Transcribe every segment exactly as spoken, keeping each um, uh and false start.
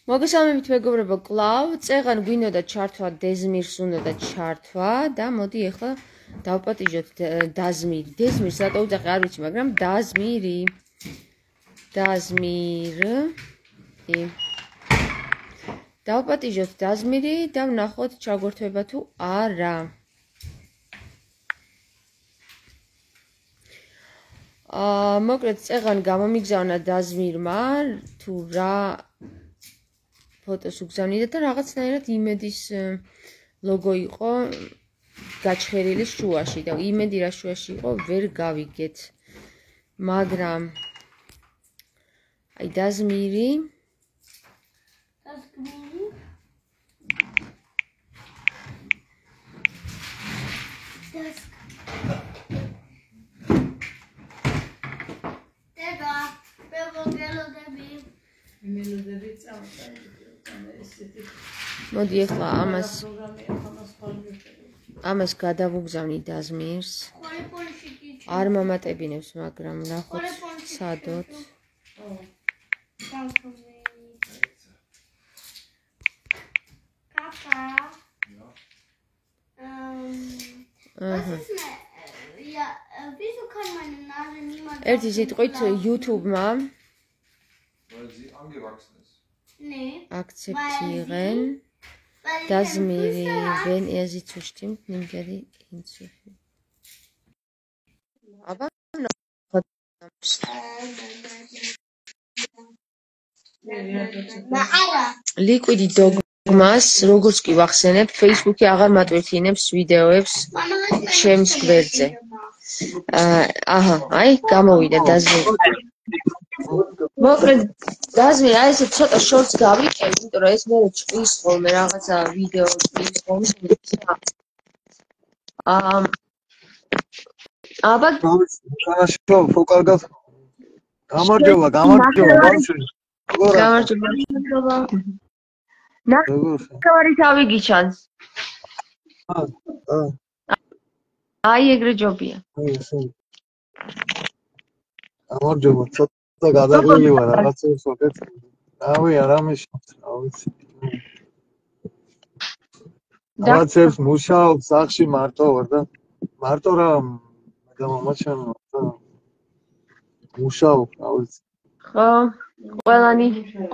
მოგესალმებით მეგობრებო, კლავ, წეღან გვინდოდა ჩართვა დეზმირს უნდა ჩართვა და მოდი ახლა დავპატიჟოთ დაზმირი. დეზმირს რატო უძახი არ ვიცი, მაგრამ დაზმირი. დაზმირი. დავპატიჟოთ დაზმირი და ვნახოთ ჩაგვერთვება თუ არა. აა, მოკლედ წეღან გამომიგზავნა დაზმირმა თუ რა ფოტოს უგზავნიდა და რაღაცნაირად იმედის ლოგო იყო გაჩხერილი შუაში და იმედი რა შუაში იყო ვერ გავიგეთ. მაგრამ აი დაზმირი დაზმირი დაზ დება ბებოგელოდები მელოდები წავწერე მოდი ახლა ამას ამას გადავუგზავნი დაზმირს. არ მომატებინებს, მაგრამ ნახოთ სადოთ. კაფა. ერთი სიტყვით YouTube-მა Nee. Akzeptieren. Dazmiri, wenn er sie zustimmt, nimmt er die hinzu. Aber noch. Liquidi dogmas, როგორც კი ვახსენებ, Facebook-ი აღარ მატვირთინებს ვიდეოებს ჩემს გვერდზე. აჰა, აი, გამოვიდა დაზმირი. მოკლედ დაზმირი, აი ესე ცოტა შორტს გავიკეთე, იმიტომ რომ ეს მე ჭრის ხოლმე რაღაცა ვიდეო ჭრის ხოლმე. აა აბა შო ფოკალგა გამარჯობა, გამარჯობა, ბავშვი. გამარჯობა. ნახევარი თავი გიჩანს. აა. აი ეგრე ჯობია. აი ესე. გამარჯობა, და გადაგვილი ვარ რაღაცებს ვაკეთებ. რავი, არამეშობს, რა ვიცი. რაღაცებს მუშაობ სახში მარტო ვარ და მარტო რა და მომაჩვენო და მუშაობ, რა ვიცი. ხო, ყველანი,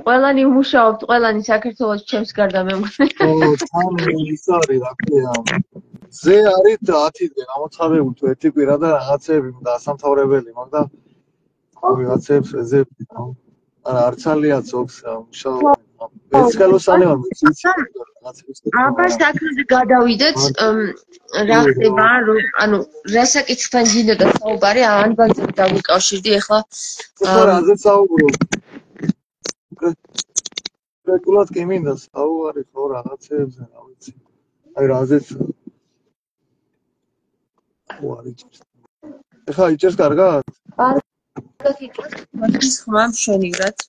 ყველანი მუშაობთ, ყველანი საქართველოს ჩემს გარდა მე მგონი. ხო, თან ის არის, რა ქვია. ზე არის ათიდან ამოცხადებული თუ ერთი კვირა და რაღაცები დასამთავრებელი, მაგრამ ვიღაცებს ეძებდი, არა არცალია ძობს მუშაობ. ეს ხელოსანი ვარ, ვიცი რაღაცებს. აბა საქმეზე გადავიდეთ, რა ხდება, რომ ანუ რასაკითხთან გინდოდა საუბარი, ანბანზე დავიკავშირდი ახლა. რაზე საუბრობ? კონკრეტულად კი მინდა საუბარი ხო რაღაცებზე, რა ვიცი. აი რაზეც ხო არის. ეხლა იჭერს კარგად? არა. ის ხმა მშვენივრად.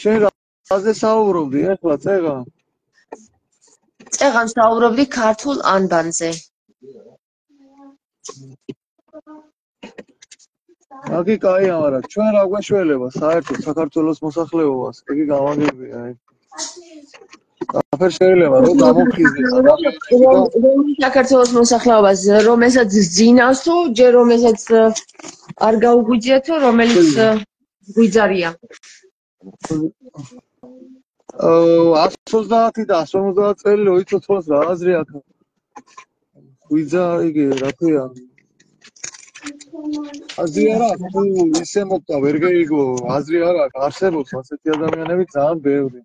შენ რაზე საუბრობდი ახლა წეღა? წეღან საუბრობდი ქართულ ანბანზე. აგი კაია, მაგრამ ჩვენ რა გვეშველება საერთოდ საქართველოს მოსახლეობას, იგი გამაგებია აი. აფერ შეიძლება რომ გამოფხიზდეს საქართველოს მოსახლეობას, რომელსაც ძინავს თუ ჯერ რომელსაც არ გაუგვიძია თუ რომელიც გვიძარია. აა εκατს ოცდაათი და εκατს ორმოცდაათი წელი რო იცოცხლოს რა აზრი აქვს. გვიძა იგი რა ქვია. აზრი არა აქვს თუ ისე მოკდა ვერ გეიგო, აზრი არა აქვს, არსებობს ასეთი ადამიანები ძალიან ბევრი.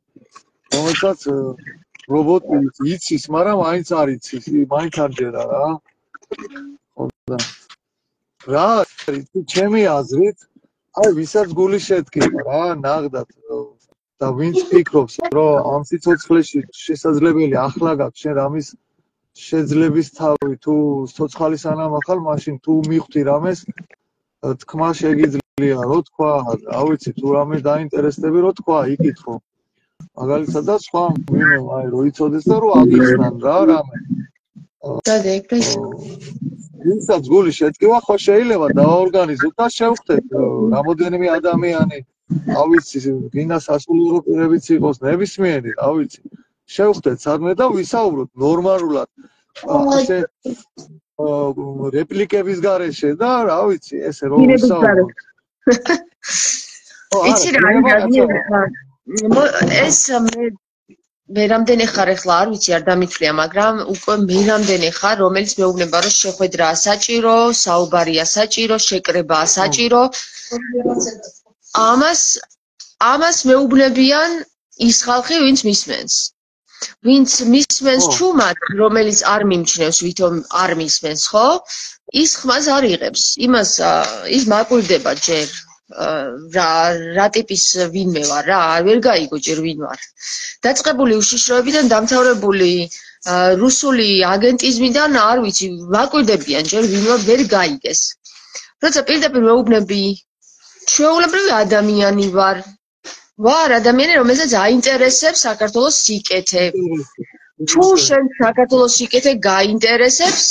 რომელსაც რობოტი იცის, მაგრამ მაინც არ იცის, მაინც არ ჯერა რა. ხოდა. რა არის ჩემი აზრით, აი ვისაც გული შედგება რა, ნაღდათ და ვინც ფიქრობს, რომ ამ სიცოცხლეში შესაძლებელი ახლა გაქვს შენ რამის შეძლების თავი, თუ ცოცხალი სანამ ახალ, მაშინ თუ მიხვდი რამეს, თქმა შეგიძლია, რო თქვა, რა ვიცი, თუ რამე დაინტერესდები, რო თქვა, იკითხო. მაგალითად და სხვა ვინმე აი რო იცოდეს და რო აგიხსნან რა რამე. და ეგრეს ვინცაც გული შედგება, ხო შეიძლება დაორგანიზოთ და შევხვდეთ რამოდენიმე ადამიანი რა ვიცი, გინდა სასულიერო პირებიც იყოს, ნებისმიერი, რა ვიცი. შევხვდეთ სადმე და ვისაუბროთ ნორმალურად. ასე რეპლიკების გარეშე და რა ვიცი, ესე რომ ვისაუბროთ. იცი რა ეს მე მე რამდენი ხარ ახლა არ ვიცი არ დამითვლია, მაგრამ უკვე მე რამდენი ხარ, რომელიც მეუბნება რომ შეხვედრაა საჭირო, საუბარია საჭირო, შეკრებაა საჭირო. ამას ამას მეუბნებიან ის ხალხი, ვინც მისმენს. ვინც მისმენს ჩუმად, რომელიც არ მიმჩნევს, ვითომ არ მისმენს, ხო? ის ხმას არ იღებს. იმას ის მაკვირდება ჯერ რა რა ტიპის ვინმე ვარ რა, ვერ გაიგო ჯერ ვინ ვარ. დაწყებული უშიშროებიდან დამთავრებული რუსული აგენტიზმიდან არ ვიცი, მაკვირდებიან ჯერ ვინ ვარ, ვერ გაიგეს. როცა პირდაპირ მეუბნები ჩვეულებრივი ადამიანი ვარ. ვარ ადამიანი, რომელსაც აინტერესებს საქართველოს სიკეთე. თუ შენ საქართველოს სიკეთე გაინტერესებს,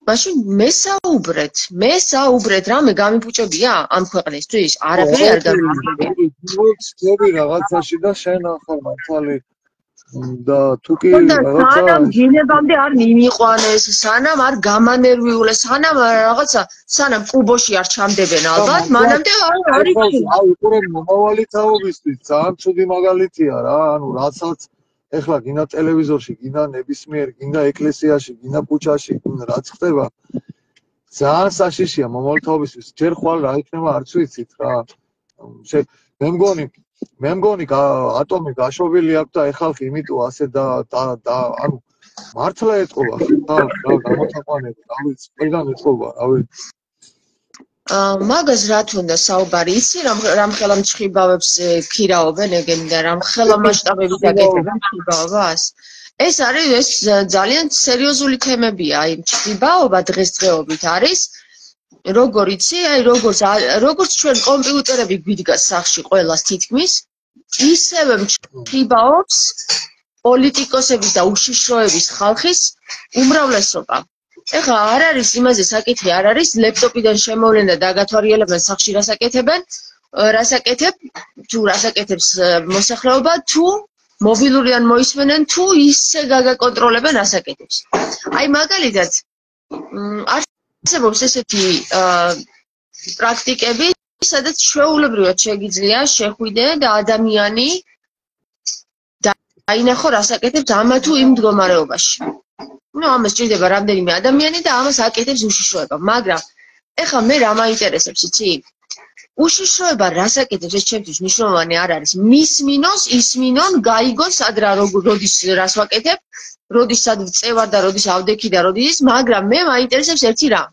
მაშინ მესაუბრეთ, მესაუბრეთ, რამე გამიფუჭებია ამ ქვეყნისთვის? არაფერი არ გამიფუჭებია. ვცდები რაღაცაში და შენ ახალ მართალი და თუ კი რაღაცა სანამ გინებამდე არ მიმიყვანეს, სანამ არ გამანერვიულეს, სანამ რაღაცა, სანამ კუბოში არ ჩამდებენ ალბათ, მანამდე არ არის. აუ, უყურებ მომავალი თაობისთვის ძალიან ცუდი მაგალითია რა, ანუ რასაც ეხლა გინდა ტელევიზორში, გინდა ნებისმიერ, გინდა ეკლესიაში, გინდა ქუჩაში, რაც ხდება, ძალიან საშიშია მომავალი თაობისთვის. ჯერ ხვალ რა იქნება არც ვიცით რა. მე მგონი მე მგონი ატომი გაშვებული აქვს და ეხალხი იმიტომ ასე და და ანუ მართლა ეთყობა ხა გამოთაყვანები, რა ვიცი, ყველგან ეთყობა, რა ვიცი. მაგას რა თქონდა საუბარი, იცი რამ ხელა მჩხიბავებს ქირაობენ ეგენი და რამ ხელა მასშტაბებით აკეთებენ მჩხიბავებას? ეს არის ეს ძალიან სერიოზული თემებია, აი მჩხიბაობა დღესდღეობით არის. როგორ იცი, აი როგორც როგორც ჩვენ კომპიუტერები გვიდგას სახში ყველას თითქმის, ისევე მჩხიბაობს პოლიტიკოსების და უშიშროების ხალხის უმრავლესობა. ეხლა არ არის იმაზე საკითხი, არ არის ლეპტოპიდან შემოვლენ და დაგათვალიერებენ სახში რას აკეთებენ, რას აკეთებ, თუ რას აკეთებს მოსახლეობა, თუ მობილურიდან მოისმენენ, თუ ისე გაგაკონტროლებენ რას აკეთებს. აი მაგალითად არსებობს ესეთი პრაქტიკები, სადაც ჩვეულებრივად შეგიძლია შეხვიდე და ადამიანი დაინახო რას აკეთებს ამა თუ იმ მდგომარეობაში. ну ამას ჭირდება რამდენიმე ადამიანი და ამას აკეთებს უშიშროება, მაგრამ ეხლა მე რა მაინტერესებს, იცი? უშიშროება რას აკეთებს, ეს ჩემთვის მნიშვნელოვანი არ არის. მისმინოს, ისმინონ, გაიგონ სად რა როდის რას ვაკეთებ, როდის სად წევარ და როდის ავდექი და როდის, მაგრამ მე მაინტერესებს ერთი რამ.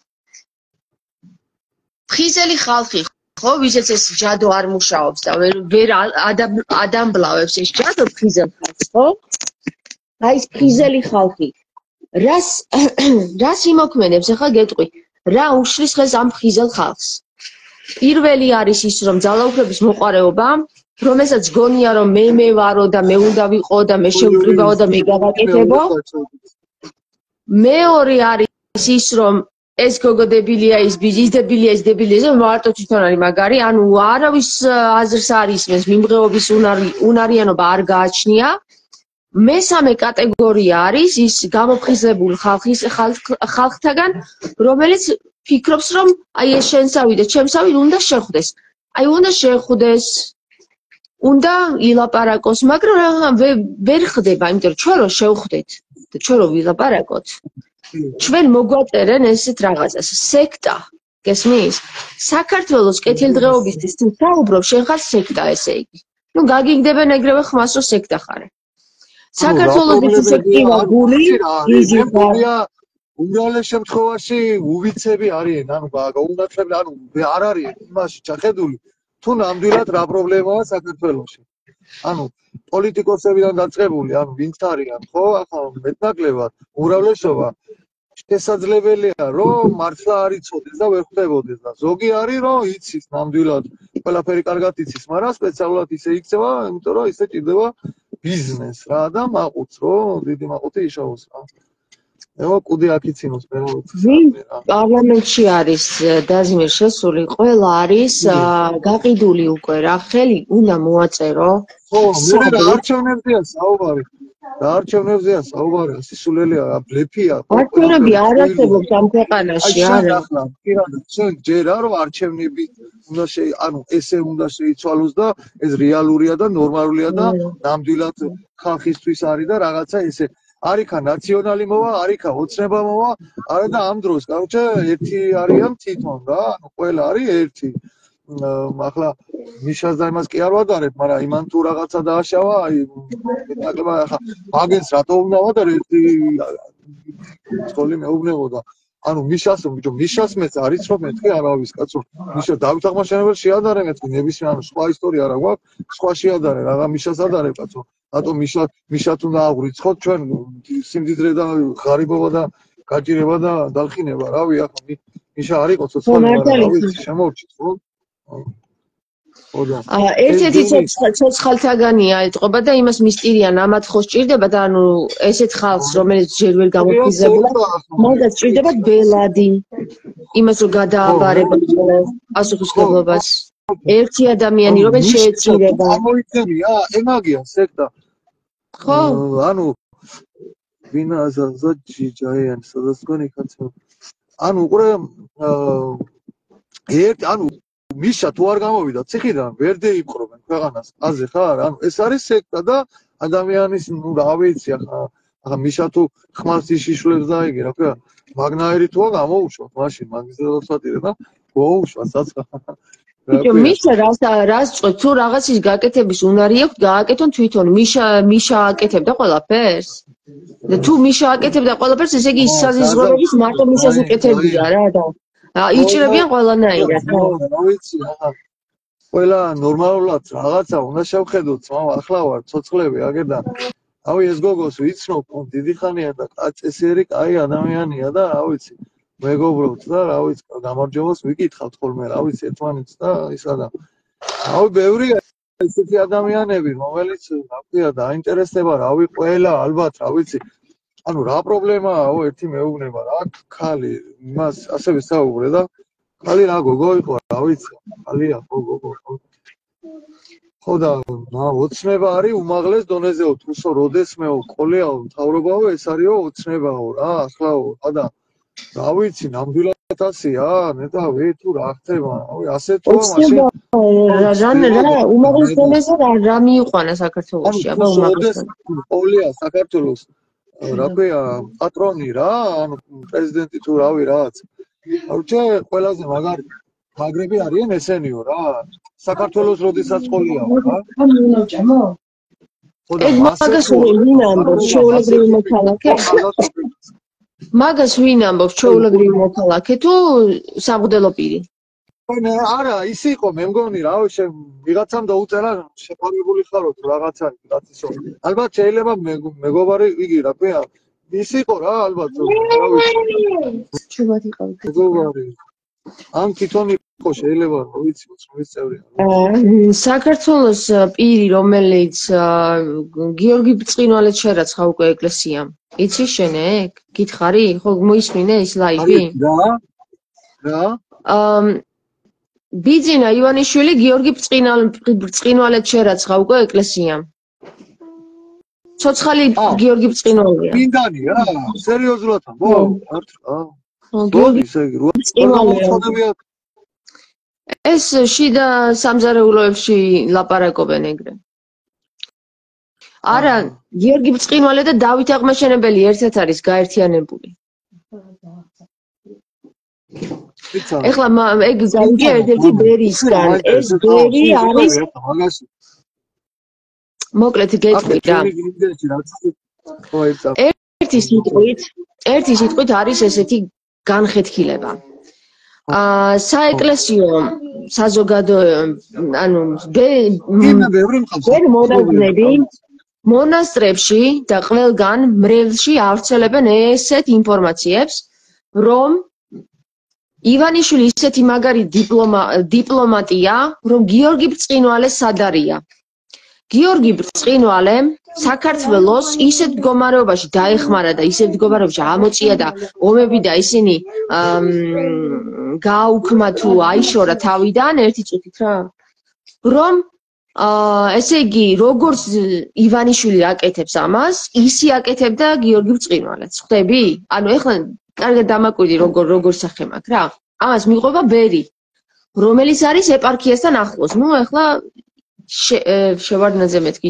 ფხიზელი ხალხი, ხო, ვისაც ეს ჯადო არ მუშაობს და ვერ ადამბლავებს ეს ჯადო ფხიზელ ხალხს, ხო? აი ეს ფხიზელი ხალხი რას რას იმოქმედებს, ახლა გეტყვი, რა უშლის ხეს ამ ფხიზელ ხალხს? პირველი არის ის, რომ ძალაუფლების მოყარეობა, რომელსაც გონია, რომ მე მე ვარო და მე უნდა ვიყო და მე შევკრიბაო და მე გავაკეთებო. მეორე არის ის, რომ ეს გოგო დებილია, ის ბიძი დებილია, ის დებილია, ეს მარტო თვითონ არის მაგარი, ანუ არავის აზრს არ ისმენს, მიმღეობის უნარიანობა არ გააჩნია. მესამე კატეგორია არის ის გამოფხიზლებული ხალხის ხალხთაგან, რომელიც ფიქრობს, რომ აი ეს შენსავი და ჩემსავი უნდა შეხვდეს. აი უნდა შეხვდეს, უნდა ილაპარაკოს, მაგრამ ვერ ხდება, იმიტომ რომ ჩვენ რო შევხვდეთ და ჩვენ რო ვილაპარაკოთ, ჩვენ მოგვაწერენ ესეთ რაღაცას, სექტა, გესმის? საქართველოს კეთილდღეობისთვის თუ საუბრობ, შენ ხარ სექტა, ესე იგი. ნუ გაგიგდებენ ეგრევე ხმას, რომ სექტა ხარ. საქართველოს სექტივა გული, იზი ხარ. უმრავლეს შემთხვევაში უვიცები არიან, ანუ გაუნათლებელი, ანუ არ არიან იმაში ჩახედული, თუ ნამდვილად რა პრობლემაა საქართველოში. ანუ პოლიტიკოსებიდან დაწყებული, ანუ ვინც არიან, ხო, ახლა მეტნაკლებად უმრავლესობა შესაძლებელია, რომ მართლა არ იცოდეს და ვერ ხვდებოდეს და ზოგი არის, რომ იცის ნამდვილად, ყველაფერი კარგად იცის, მაგრამ სპეციალურად ისე იქცევა, იმიტომ რომ ისე ჭირდება ბიზნეს რა და მაყუთს, რომ დიდი მაყუთი იშოვოს რა. ეხლა კუდი აქიცინოს მე ვინ პარლამენტში არის დაზიმერ შესული, ყველა არის გაყიდული უკვე რა, ხელი უნდა მოაწერო. ხო, მე არჩევნებზეა საუბარი. არჩევნებზეა საუბარი, სისულელეა, ბლეფია. არჩევნები არ არსებობს ამ ქვეყანაში, არა. ახლა, პირადად, ჩვენ ჯერა რომ არჩევნები უნდა შე, ანუ ესე უნდა შეიცვალოს და ეს რეალურია და ნორმალურია და ნამდვილად ხალხისთვის არის და რაღაცა ესე არიქა ნაციონალი მოვა, არიქა ოცნება მოვა, არა და ამ დროს, კაროჩე, ერთი არიან თვითონ რა, ანუ ყველა არის ერთი. ახლა მიშას და იმას კი არ ვადარებ, მაგრამ იმან თუ რაღაცა დააშავა, აი ნაკლებად ახლა მაგენს რატო უნდა ვადარე ერთი სკოლი მეუბნებოდა. ანუ მიშას, ბიჭო, მიშას მეც არის რომ მეთქი არავის კაცო. მიშა დავით აღმაშენებელ შეადარე მეთქი ნებისმიერ, ანუ სხვა ისტორია რა გვაქვს, სხვა შეადარე, რაღა მიშას ადარე კაცო. რატო მიშა მიშა თუ დაავრიცხოთ ჩვენ სიმდიდრე და ღარიბობა და გაჭირება და დალხინება, რავი, ახლა მიშა არ იყო ცოცხალი, მაგრამ შემოვჭით, ხო? ერთ-ერთი ცოცხალთაგანია ეტყობა და იმას მისტირიან ამათ ხო სჭირდება და ანუ ესეთ ხალხს რომელიც ჯერ ვერ გამოფხიზებულა მაგას სჭირდება ბელადი იმას რომ გადააბარებოს პასუხისმგებლობას ერთი ადამიანი რომელიც შეეცირება გამოიწევია ემაგია სექტა ხო ანუ ვინა ზაჯიჯაიან სადაც გონი კაცო ანუ უყურე ერთ ანუ მიშა თუ არ გამოვიდა ციხიდან ვერ დაიპყრობენ ქვეყანას აზე ხარ ანუ ეს არის სექტა და ადამიანის ნუ რა ვიცი ახლა ახლა მიშა თუ ხმალს იშიშვლებს და იგი რა ქვია მაგნაერი თუა გამოუშვა მაშინ მაგის დაწვატირე და მოუშვა საცხა ბიჭო მიშა რას რას წვეთ თუ რაღაცის გაკეთების უნარი აქვს გააკეთონ თვითონ მიშა მიშა აკეთებდა ყველაფერს და თუ მიშა აკეთებდა ყველაფერს ესე იგი საზიზღვრების მარტო მიშას უკეთებდია რა და იჭრებიან ყველანაირად ხო ვიცი ახლა ყველა ნორმალურად რაღაცა უნდა შევხედოთ მამა ახლა ვარ ცოცხლები აგერდა ავი ეს გოგოს ვიცნობ დიდი ხანია და წესიერი კაი ადამიანია და რა ვიცი მეგობრობთ და რა ვიცი გამარჯვებას ვიკითხავთ ხოლმე რა ვიცი ერთმანეთს და ისა და ავი ბევრია ესეთი ადამიანები რომელიც რა ქვია დაინტერესდება რავი ყველა ალბათ რა ვიცი ანუ რა პრობლემაა ერთი მეუბნება რა ხალი იმას ასევე საუბრე და ხალი რა გოგო იყო რა ვიცი ხალია ხო გოგო ხო და ოცნება არის უმაღლეს დონეზეო თუსო როდესმეო ყოლეაო მთავრობაო ეს არისო ოცნებაო რა ახლაო და რა ვიცი ნამდვილად ასია ნეტავი თუ რა ხდება რავი ასე თუ მაშინ რა რა უმაღლეს დონეზე რა მიიყვანა საქართველოში აბა უმაღლეს ყოლეა საქართველოს რა ქვია პატრონი რა ანუ პრეზიდენტი თუ რავი რაღაც აუჩე ყველაზე მაგარი მაგრები არიან ესენიო რა საქართველოს როდესაც ყოლია რა ეგ მაგას ვინ ამბობს ჩვეულებრივი მოქალაქე მაგას ვინ ამბობს ჩვეულებრივი მოქალაქე თუ სამღვდელო პირი მე არა ის იყო მე მგონი რა ვიღაცამ დაუწერა შეფარებული ხაროთ რაღაცა რაცისო ალბათ შეიძლება მეგობარი იგი რა ქვია ის იყო რა ალბათ რა ვიცი ჩუბად იყო მეგობარი ან თვითონ იყო შეიძლება რა ვიცი მოწმის წევრია საქართველოს პირი რომელიც გიორგი ბრწყინვალედ შერაცხა უკვე ეკლესიამ იცი შენ ეგ გითხარი ხო მოისმინე ის ლაივი რა რა აა ბიძინა ივანიშვილი გიორგი ბრწყინვალედ შერაცხა უკვე ეკლესიამ. ცოცხალი გიორგი ბრწყინვალია. მინდანი რა, სერიოზულად ხო? გიორგი ბრწყინვალია. ეს შიდა სამზარეულოებში ლაპარაკობენ ეგრე. არა, გიორგი ბრწყინვალე და დავით აღმაშენებელი ერთად არის გაერთიანებული. ეხლა ეგ გავიგე ერთ-ერთი ბერისგან ეს ბერი არის მოკლედ გეტყვი რა ერთი სიტყვით ერთი სიტყვით არის ესეთი განხეთქილება აა საეკლესიო საზოგადო ანუ ვერ მონაზვნები მონასტრებში და ყველგან მრევლში ავრცელებენ ესეთ ინფორმაციებს რომ ივანიშვილი ისეთი მაგარი დიპლომა დიპლომატია, რომ გიორგი ბრწყინვალე სად არია. გიორგი ბრწყინვალემ საქართველოს ისეთ მდგომარეობაში დაეხმარა და ისეთ მდგომარეობაში ამოწია და ომები და ისინი გააუქმა თუ აიშორა თავიდან ერთი წუთით რა რომ ესე იგი როგორც ივანიშვილი აკეთებს ამას ისი აკეთებდა გიორგი ბრწყინვალეც ხვდები ანუ ეხლა კარგად დამაკვირდი როგორ როგორ სახე მაქვს რა ამას მიყვება ბერი რომელიც არის ეპარქიასთან ახლოს ნუ ეხლა შევარდნაძე მეთქი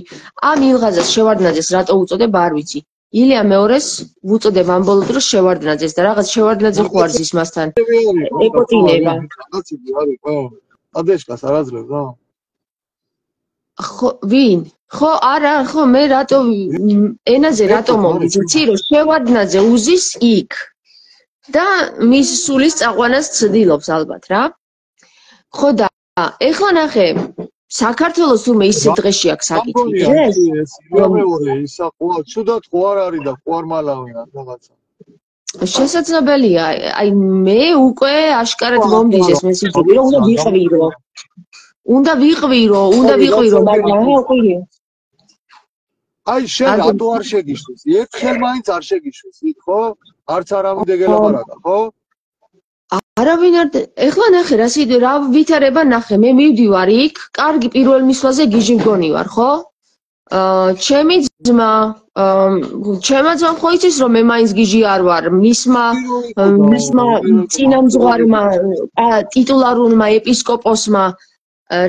ამ ილღაზას შევარდნაძეს რატო უწოდება არ ვიცი ილია მეორეს უწოდებ ამ ბოლო დროს შევარდნაძეს და რაღაც შევარდნაძე ხო არის ის მასთან ეკოტინება ადეშკას არ აძლევს რა ხო ვინ ხო არა ხო მე რატო ენაზე რატო მომდის იცი რომ შევარდნაძე უზის იქ და მის სულის წაყვანას ცდილობს ალბათ რა ხო და ეხლა ნახე საქართველოს თურმე ისე დღეში აქვს საკითხი ეს მეორე ისა ხო ცუდად ხო არ არის და ხო არ მალავიან რაღაცა შესაძლებელია აი მე უკვე აშკარად მომდის ეს მესიჯები რომ უნდა ვიყვირო უნდა ვიყვირო უნდა ვიყვირო მაგრამ აყვირი აი შენ რატო არ შეგიშვეს ერთხელ მაინც არ შეგიშვეს იქ ხო არც არავინ დეგელაპარაკა ხო არავინ არ ეხლა ნახე რა სიდ რა ვითარება ნახე მე მივდივარ იქ კარგი პირველ მისვლაზე გიჟი მგონი ვარ ხო აა ჩემი ძმა ჩემო ძმა ხო იცის რომ მე მაინც გიჟი არ ვარ მისმა მისმა წინამძღვარმა ტიტულარულმა ეპისკოპოსმა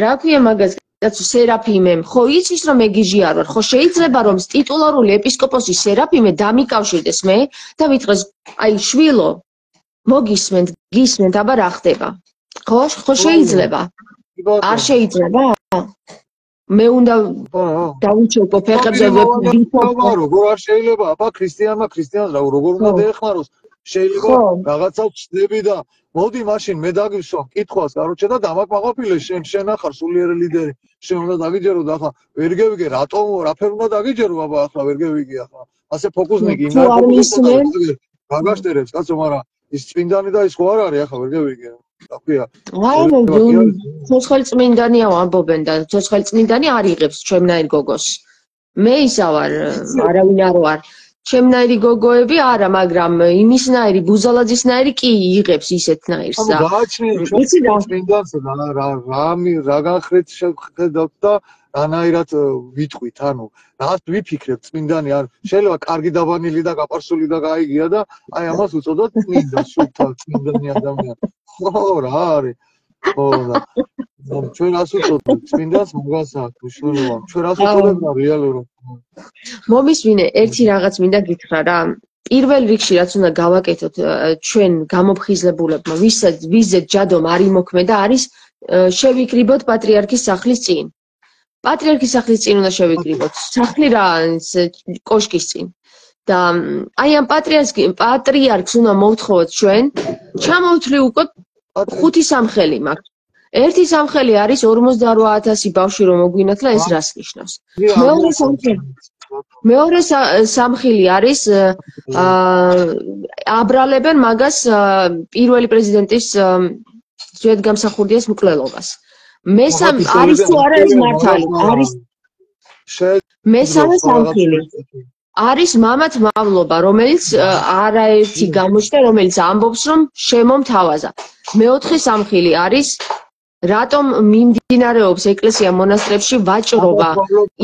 რა ქვია მაგას კაცო სერაფიმემ ხო იცის რომ მე გიჟი არ ვარ ხო შეიძლება რომ ტიტულარული ეპისკოპოსი სერაფიმე დამიკავშირდეს მე და მითხრეს აი შვილო მოგისმენთ გისმენთ აბა რა ხდება ხო ხო შეიძლება არ შეიძლება მე უნდა დავუჩერდო ფეხებზე ვიფიქრო როგორ არ შეიძლება აბა ქრისტიანმა ქრისტიანს რა როგორ უნდა დაეხმაროს შეიძლება რაღაცა ვწდები და მოდი მაშინ მე დაგივსვამ კითხვას კაროჩე და დამაკმაყოფილე შენ შენ ახარ სულიერი ლიდერი შენ უნდა დაგიჯერო და ახლა ვერ გევიგე რატომ რაფერ უნდა დაგიჯერო აბა ახლა ვერ გევიგე ახლა ასე ფოკუსნიკი იმ გაგაშტერებს კაცო მაგრამ ის წმინდანი და ის ხო არ არის ახლა ვერ გევიგე რა ქვია აი ცოცხალი წმინდანია ამბობენ და ცოცხალი წმინდანი არ იღებს ჩემნაირ გოგოს მე ისა ვარ არავინ არ ვარ ჩემნაირი გოგოები არა მაგრამ იმისნაირი ბუზალაძისნაირი კი იღებს ისეთნაირს და იცი რა წმინდანს რა რამი რა განხრეთ შეხედავთ და რანაირად ვიტყვით ანუ რაღაც ვიფიქრებთ წმინდანი არ შეიძლება კარგი დაბანილი და გაპარსული და გაიგია და აი ამას უწოდოთ წმინდა სულთან წმინდანი ადამიანი ხო რა არის ხო და ჩვენ რას უწოდოთ წმინდანს მაგას აქვს მნიშვნელობა ჩვენ რას უწოდოთ და რეალურად მომისმინე ერთი რაღაც მინდა გითხრა რა პირველ რიგში რაც უნდა გავაკეთოთ ჩვენ გამოფხიზლებულებმა ვისაც ვიზეთ ჯადომ არ იმოქმედა არის შევიკრიბოთ პატრიარქის სახლის წინ პატრიარქის სახლის წინ უნდა შევიკრიბოთ სახლი რა კოშკის წინ და აი ამ პატრიარქს პატრიარქს უნდა მოვთხოვოთ ჩვენ ჩამოვთვლი უკვე ხუთი სამხელი მაქვს ერთი სამხელი არის ორმოცდაორი ათასი ბავშვი რომ მოგვინათლა ეს რას ნიშნავს მეორე სამხელი მეორე სამხელი არის აბრალებენ მაგას პირველი პრეზიდენტის ძვირადღამსახურდიას მკვლელობას მესამე არის თუ არა ეს მართალი არის მესამე სამხელი არის მამათ მავლობა რომელიც არაერთი გამოჩნდა რომელიც ამბობს რომ შემომთავაზა მეოთხე სამხელი არის რატომ მიმდინარეობს ეკლესია მონასტრებში ვაჭრობა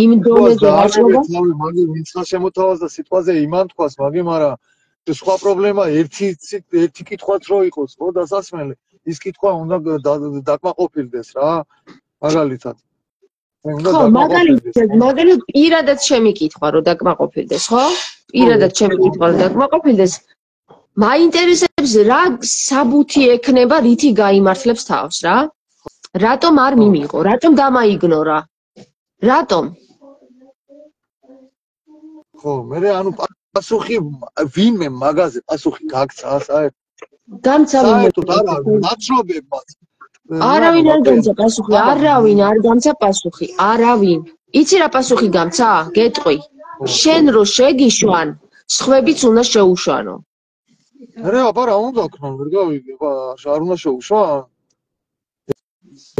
იმ დონეზე ვაჭრობა მაგი ვინცხა შემოთავაზდა სიტყვაზე იმან თქვას მაგი მაგრამ სხვა პრობლემა ერთი ერთი კითხვაც რო იყოს ხო დასასმელი ის კითხვა უნდა დაკმაყოფილდეს რა მაგალითად ხო მაგალითად მაგალითად პირადად ჩემი კითხვა რომ დაკმაყოფილდეს ხო პირადად ჩემი კითხვა რომ დაკმაყოფილდეს მაინტერესებს რა საბუთი ექნება რითი გაიმართლებს თავს რა რატომ არ მიმიღო? რატომ დამაიგნორა? რატომ? ხო, მე ანუ პასუხი ვინმე მაგაზე პასუხი გაგცა საერთოდ. გამცა ვინმე? ნაცნობებმაც. არავინ არ გამცა პასუხი, არავინ არ გამცა პასუხი, არავინ. იცი რა პასუხი გამცა? გეტყვი. შენ რო შეგიშვან, სხვებიც უნდა შეუშვანო. რა, აბა რა უნდა ქნო, ვერ გავიგე, აბა არ უნდა შეუშვან?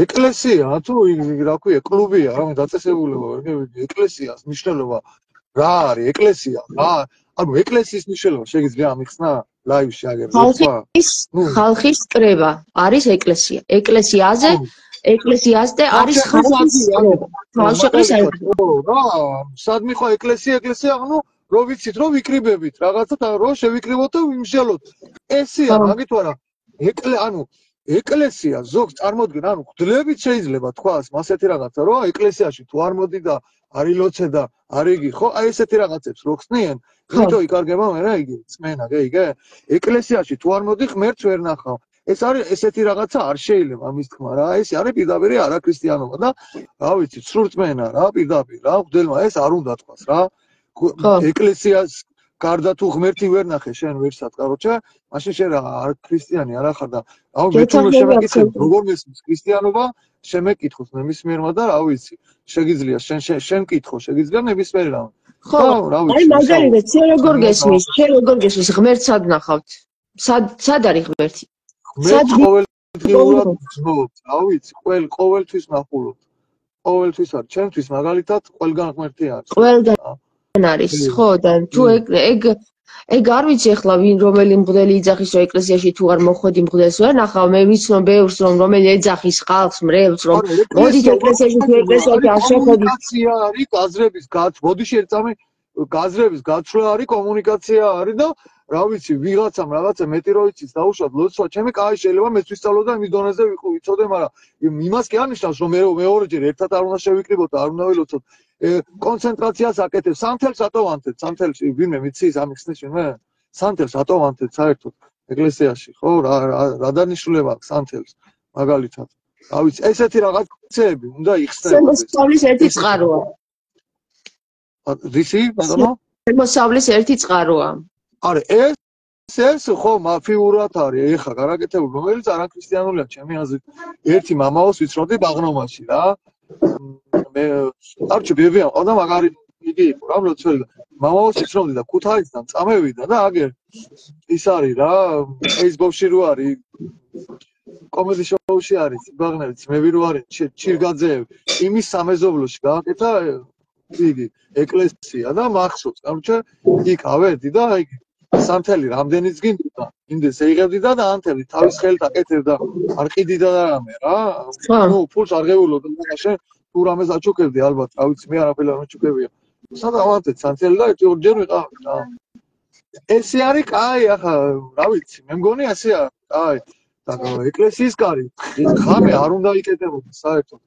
ეკლესია თუ რა ქვია კლუბია რა დაწესებულება ვერ გევიდი ეკლესიას მნიშვნელობა რა არის ეკლესია რა ანუ ეკლესიის მნიშვნელობა შეგიძლია ამიხსნა ლაივში აგერ ხალხის ხალხის კრება არის ეკლესია ეკლესიაზე ეკლესიაზე არის ხალხის კრება თავშეყრის რა სადმე ხო ეკლესია ეკლესია ანუ რო ვიცით რომ ვიკრიბებით რაღაცა რო შევიკრიბოთ და ვიმშალოთ ესია მაგით ვარა ეკლე ანუ ეკლესია ზოგ წარმოდგენ ანუ გძლებით შეიძლება თქვას მასეთი რაღაცა რომ ეკლესიაში თუ არ მოდი და არ ილოცე და არ იგი ხო აი ესეთი რაღაცებს რო ხსნიან იმიტომ იკარგება მე რა იგი წმენა გეიგე ეკლესიაში თუ არ მოდი ღმერთს ვერ ნახავ ეს არის ესეთი რაღაცა არ შეიძლება ამის თქმა რა ეს არის პირდაპირ არაქრისტიანობა და რა ვიცი სრულწმენა რა პირდაპირ რა ხდელმა ეს არ უნდა თქვას რა ეკლესიას გარდა თუ ღმერთი ვერ ნახე შენ ვერსად კაროჩა მაშინ შენ რა არ ქრისტიანი არ ახარ და აუ მე თუ შემეკითხებ როგორ მესმის ქრისტიანობა შემეკითხოს ნებისმიერმა და რა ვიცი შეგიძლია შენ შენ კითხო შეგიძლია ნებისმიერი რა ხო რა ვიცი აი მაგალითად შენ როგორ გესმის შენ როგორ გესმის ღმერთს სად ნახავთ სად სად არის ღმერთი სად ყოველდღიურად ვცნობ რა ვიცი ყოველ ყოველთვის ნახულობ ყოველთვის არის ჩემთვის მაგალითად ყველგან ღმერთი არის ყველგან არის ხო და თუ ეგ ეგ ეგ არ ვიცი ახლა ვინ რომელი მღვდელი იძახის რომ ეკლესიაში თუ არ მოხვედი მღვდელს ვერ ნახავ მე ვიცნობ ბევრს რომ რომელი ეძახის ხალხს მრევლს რომ მოდით ეკლესიაში თუ ეკლესიაში არ შეხვედით კომუნიკაცია არის გაზრების გაც მოდიში ერთამე გაზრების გაცვლა არის კომუნიკაცია არის და რა ვიცი ვიღაცამ რაღაცა მეტი რო იცის დაუშვათ ლოცვა ჩემი კაი შეიძლება მეც ვისწავლო და იმის დონეზე ვიცოდე მაგრამ იმას კი არნიშნავს რომ მე მეორეჯერ ერთად არ უნდა შევიკრიბოთ და არ უნდა ველოცოთ კონცენტრაციას აკეთებს სანთელს ატოვანთეთ სანთელში ვინმე მიცის ამიხსნის ვინმე სანთელს ატოვანთეთ საერთოდ ეკლესიაში ხო რა რა დანიშნულება აქვს სანთელს მაგალითად რა ვიცი ესეთი რაღაცები უნდა იხსნებოდეს მოსავლის ერთი წყაროა რისი ბატონო მოსავლის ერთი წყაროა არა ეს ეს ხო მაფიურად არის ეხა გარაკეთებული რომელიც არაქრისტიანულია ჩემი აზრით ერთი მამაოს ვიცნობდი ბაღნომაში რა მე არჩი ბებია ყავდა მაგარი იგი იყო რა მლოცველი მამაოს ვიცნობდი და ქუთაისიდან წამევიდა და აგერ ის არის რა Facebook-ში რო არის კომედი შოუში არის ბაღნევიც მე ვირო არის ჩირგაძეევ იმის სამეზობლოში გააკეთა იგი ეკლესია და მახსოვს კაროჩე იქ ავედი და იგი სანთელი რამდენიც გინდა იმდეს ეიღებდი და ანთელი თავის ხელით აკეთებდა არ ყიდიდა და რამე რა ნუ ფულს არ ღეულობ და შენ თუ რამეს აჩუქებდი ალბათ რა ვიცი მე არაფერი არ მეჩუქებია სადა ავანთეთ სანთელი და ერთი ორჯერ ვიყავ რა ესე არის კაი ახლა რა ვიცი მე მგონი ასეა კაი და ეკლესიის კარი ხამე არ უნდა იკეთებოდეს საერთოდ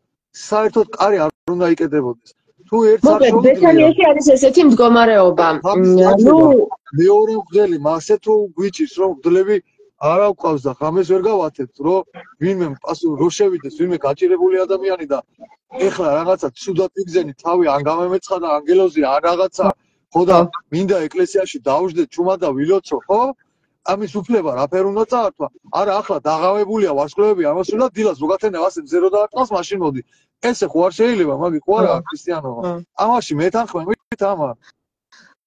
საერთოდ კარი არ უნდა იკეთებოდეს თუ ერთ საერთოდ ბეთანიაში არის ესეთი მდგომარეობა ნუ მეორე მგელი მასე თუ გვიჭირს რომ მგლები არა გვყავს და ხამეს ვერ გავათებთ რომ ვინმე პასუ რო შევიდეს ვინმე გაჭირებული ადამიანი და ეხლა რაღაცა ცუდად იგზენი თავი ან გამემეცხა და ანგელოზი ან რაღაცა ხო და მინდა ეკლესიაში დავждდე ჩუმა და ვილოცო ხო ამის უფლება რაფერ უნდა წაართვა არა ახლა დაღავებულია ვარსკვლავები ამას უნდა დილას როგათენე ასე მზე რო დაარტყავს მაშინ მოდი ესე ხო არ შეიძლება მაგი ხო არა ქრისტიანობა ამაში მეთანხმებით ამან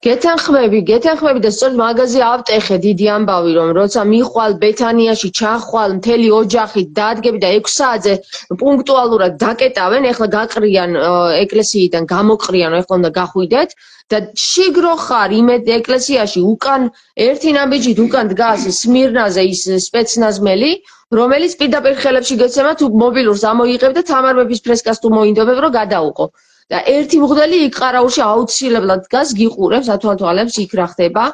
გეთანხმები, გეთანხმები და სწორედ მაგაზე ავტეხე დიდი ამბავი რომ როცა მიხვალ ბეთანიაში ჩახვალ მთელი ოჯახით დაადგები და ექვს საათზე პუნქტუალურად დაკეტავენ, ეხლა გაყრიან ეკლესიიდან, გამოყრიან, ეხლა უნდა გახვიდეთ და შიგრო ხარ იმ ეკლესიაში უკან ერთი ნაბიჯით უკან დგას სმირნაზე ის სპეცნაზმელი, რომელიც პირდაპირ ხელებში გეცემა თუ მობილურს ამოიღებ და თამარ მეფის ფრესკას თუ მოინდობებ რომ გადაუყო. და ერთი მღვდელი იქ ყარაულში აუცილებლად დგას გიყურებს ათვალთვალებს იქ რა ხდება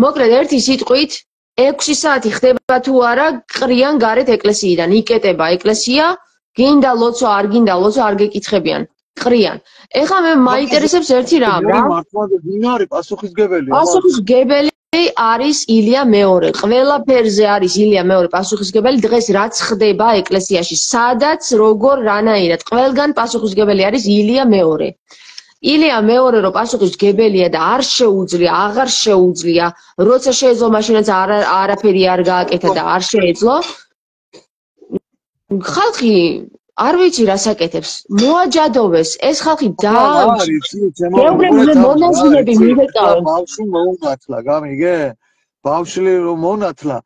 მოკლედ ერთი სიტყვით ექვსი საათი ხდება თუ არა ყრიან გარეთ ეკლესიიდან იკეტება ეკლესია გინდა ლოცვა არ გინდა ლოცვა არ გეკითხებიან ყრიან ეხლა მე მაინტერესებს ერთი რამ რა მართლა ვინ არის პასუხისგებელი პასუხისგებელი არის ილია მეორე. ყველაფერზე არის ილია მეორე პასუხისგებელი. დღეს რაც ხდება ეკლესიაში, სადაც როგორ რანაირად, ყველგან პასუხისგებელი არის ილია მეორე. ილია მეორე რო პასუხისგებელია და არ შეუძლია, აღარ შეუძლია, როცა შეეძლო მაშინაც არაფერი არ გააკეთა და არ შეეძლო. ხალხი არ ვიცი რას აკეთებს. მოაჯადოვეს ეს ხალხი და გეუბნები მონაზვნები მივეკავენ. ბავშვი მოუნათლა, გამიგე? ბავშვი რომ მონათლა,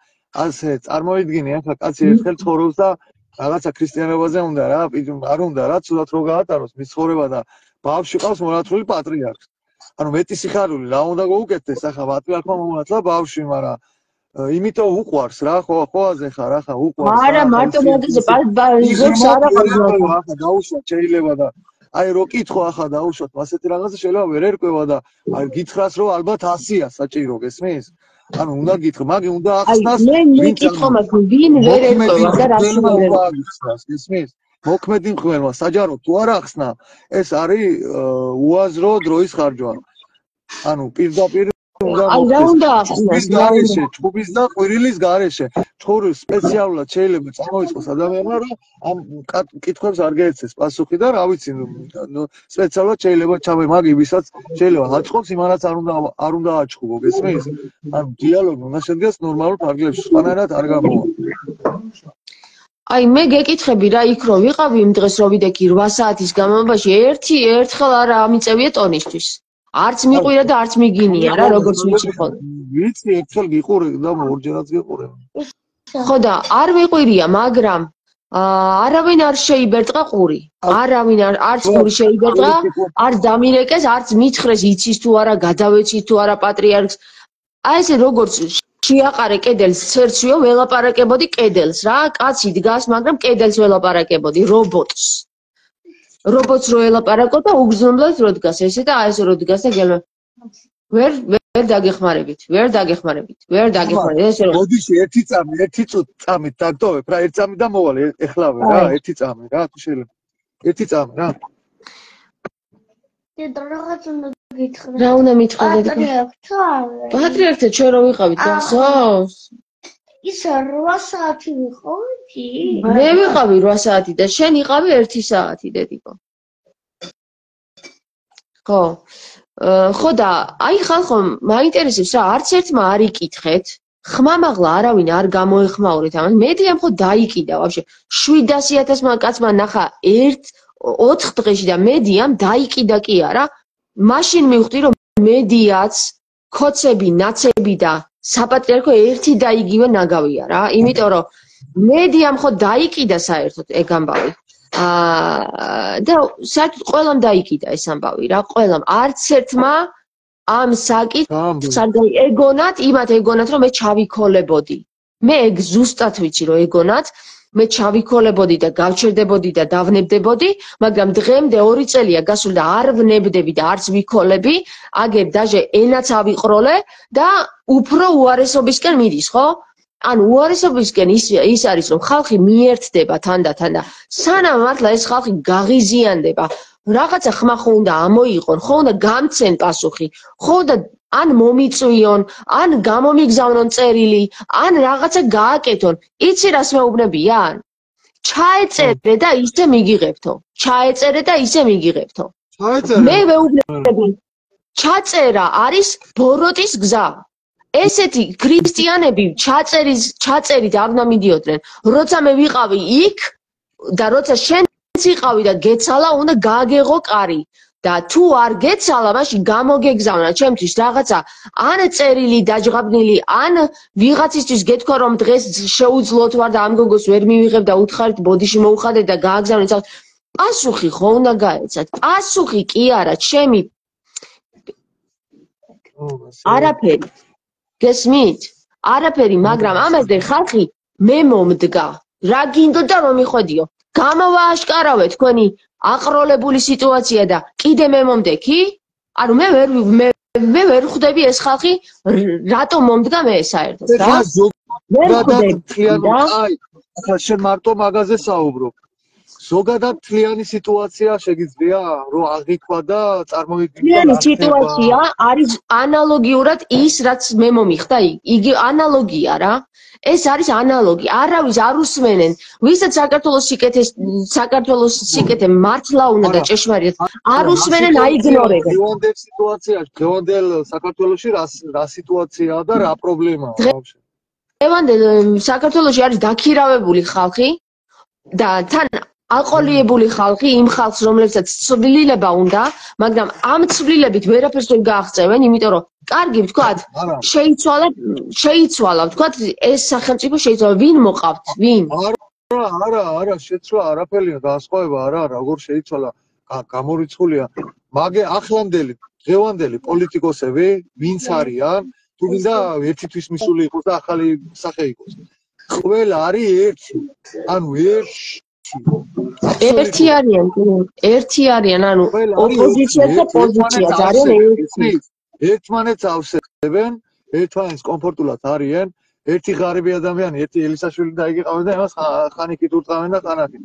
ასე წარმოიდგინე, ახლა კაცი ერთხელ ცხოვრობს და რაღაცა ქრისტიანობაზე უნდა რა, არ უნდა რა, ცუდად რო გაატაროს მის ცხოვრება და ბავშვი ყავს მონათლული პატრიარქს. ანუ მეტი სიხარული რა უნდა გაუკეთდეს ახლა პატრიარქმა მომონათლა ბავშვი, მაგრამ იმიტომ უყვარს რა, ხო, ხოაზე ხარ ახლა უყვარს. არა, მარტო მაგაზე ზოგს არ აყავს. ახლა დაუშვათ შეიძლება და აი რო კითხო ახლა დაუშვათ, ასეთი რაღაცა შეიძლება ვერ ერკვევა და აი გითხრას რომ ალბათ ასია საჭირო, გესმის? ანუ უნდა გითხრა, მაგი უნდა ახსნას. აი მე მე კითხო მაგ ვინ ვერ ერკვევა და რა შეიძლება აღიხსნას, გესმის? მოქმედი მღვდელმა საჯარო თუ არ ახსნა, ეს არის უაზრო დროის ხარჯვა. ანუ პირდაპირ აი რა უნდა ახსნას გარეშე, ჭუბის და ყვირილის გარეშე. ჭური სპეციალურად შეიძლება წამოიწყოს ადამიანმა, რომ ამ კითხვებს არ გაეცეს პასუხი და რა ვიცი, სპეციალურად შეიძლება ჩამე მაგი ვისაც შეიძლება აჭყობს, იმანაც არ უნდა არ უნდა აჭყობო, გესმის? ანუ დიალოგი უნდა შედგეს ნორმალურ ფარგლებში, სხვანაირად არ გამოვა. აი მე გეკითხები რა იქ რო ვიყავი იმ დღეს რო ვიდექი რვა საათის განმავლობაში ერთი ერთხელ არ ამიწევია ტონისთვის. არც მიყვირა და არც მიგინია რა როგორც ვიცი ხოლმე. ვიცი ერთხელ გიყურე და ორჯერაც გიყურე. ხო და არ მიყვირია, მაგრამ არავინ არ შეიბერტყა ყური. არავინ არც ყური შეიბერტყა, არც დამირეკეს, არც მითხრეს იცის თუ არა, გადავეცით თუ არა პატრიარქს. აი ესე როგორც შეაყარე კედელს ცერცვიო ველაპარაკებოდი კედელს რა, კაცი დგას, მაგრამ კედელს ველაპარაკებოდი რობოტს. რობოტს რო ელაპარაკო და უგზნობლად რო დგას ესე და აი ესე რო დგას და გელმა ვერ ვერ დაგეხმარებით, ვერ დაგეხმარებით, ვერ დაგეხმარებით ესე რომ მოდის ერთი წამი, ერთი წამით დაგტოვებ რა, ერთი წამი და მოვალე ეხლავე რა, ერთი წამი რა, თუ შეიძლება. ერთი წამი რა. დედა რაღაც უნდა გითხრა. რა უნდა მითხრა დედა? პატრიარქთან ჩვენ რო ვიყავით გახსოვს? ის რვა საათი ვიყავი? მე ვიყავი რვა საათი და შენ იყავი ერთი საათი დედიკო. ხო. ხო და აი ხალხო მაინტერესებს რა, არც ერთმა არ იკითხეთ, ხმამაღლა არავინ არ გამოეხმაურეთ ამას. მედიამ ხო დაიკიდა ვაფშე. შვიდასი ათასმა კაცმა ნახა ერთ ოთხ დღეში და მედიამ დაიკიდა კი არა. მაშინ მივხვდი რომ მედიაც ქოცები, ნაცები და საპატრიარქო ერთი და იგივე ნაგავია რა, იმიტომ რომ მედიამ ხო დაიკიდა საერთოდ ეგ ამბავი. აა და საერთოდ ყველამ დაიკიდა ეს ამბავი რა, ყველამ. არც ერთმა ამ საკითხს არ ეგონათ, იმათ ეგონათ რომ მე ჩავიქოლებოდი. მე ეგ ზუსტად ვიცი რომ ეგონათ, მე ჩავიქოლებოდი და გავჩერდებოდი და დავნებდებოდი, მაგრამ დღემდე ორი წელია გასული და არ ვნებდები და არც ვიქოლები, აგერ დაჟე ენაც ავიყროლე და უფრო უარესობისკენ მიდის, ხო? ანუ უარესობისკენ ის ის არის რომ ხალხი მიერთდება თანდათან და სანამ მართლა ეს ხალხი გაღიზიანდება, რაღაცა ხმა ხო უნდა ამოიყონ, ხო უნდა გამცენ პასუხი, ხო უნდა ან მომიწვიონ, ან გამომიგზავნონ წერილი, ან რაღაცა გააკეთონ. იცი რას მეუბნებიან? ჩაეწერე და ისე მიგიღებთო. ჩაეწერე და ისე მიგიღებთო. მე მეუბნები, ჩაწერა არის ბოროტის გზა. ესეთი ქრისტიანები ჩაწერის ჩაწერით არ უნდა მიდიოდნენ. როცა მე ვიყავი იქ და როცა შენც იყავი და გეცალა, უნდა გააგეღო კარი. და თუ არ გეცალა, მაშინ გამოგეგზავნა ჩემთვის რაღაცა ან წერილი დაჯღაბნილი, ან ვიღაცისთვის გეთქვა რომ დღეს შეუძლოთ ვარ და ამ გოგოს ვერ მივიღებ და უთხარით ბოდიში მოუხადეთ და გააგზავნეთ. პასუხი ხო უნდა გაეცათ. პასუხი კი არა, ჩემი არაფერი. გესმით? არაფერი, მაგრამ ამაზე ხალხი მე მომდგა. რა გინდოდა რომ მიხვედიო? გამოვააშკარავე თქვენი აყროლებული სიტუაცია და კიდე მე მომდექი? ანუ მე ვერ მე მე ვერ ხვდები ეს ხალხი რატომ მომდგა მე საერთოდ რა? ვერ ხვდები. აი, ახლა შენ მარტო მაგაზე საუბრობ. ზოგადად თლიანი სიტუაცია შეგიძლია რომ აღიქვა და წარმოვიდგინო. თლიანი სიტუაცია არის ანალოგიურად ის რაც მე მომიხდა იგი ანალოგია რა. ეს არის ანალოგი. არავის არ უსმენენ. ვისაც საქართველოს სიკეთეს საქართველოს სიკეთე მართლა უნდა და ჭეშმარიტად არ უსმენენ, აიგნორებენ. დღევანდელ სიტუაციაში, დღევანდელ საქართველოში რა რა სიტუაციაა და რა პრობლემაა ბავშვი? დღევანდელ საქართველოში არის დაქირავებული ხალხი და თან აყოლიებული ხალხი, იმ ხალხს რომლებსაც ცვლილება უნდა, მაგრამ ამ ცვლილებით ვერაფერს ვერ გააღწევენ, იმიტომ რომ კარგი ვთქვათ, შეიცვალა, შეიცვალა ვთქვათ, ეს სახელმწიფო შეიცვალა, ვინ მოყავთ, ვინ? არა, არა, შეცვლა არაფერია, განსხვავება არა, როგორ შეიცვალა, გამორიცხულია. მაგე ახლანდელი, დღევანდელი პოლიტიკოსები, ვინც არიან, თუ გინდა ერთისთვის მისული იყოს და ახალი სახე იყოს. ყველა არის ერთი. ანუ ერთი ერთი არიან, ერთი არიან, ანუ ოპოზიცია და პოზიცია არიან ერთი. ერთმანეთს ავსებენ, ერთმანეთს კომფორტულად არიან. ერთი ღარიბი ადამიანი, ერთი ელისაშვილი და იგი ყავენ და იმას ხანიკით ურტყავენ და ხანაკით.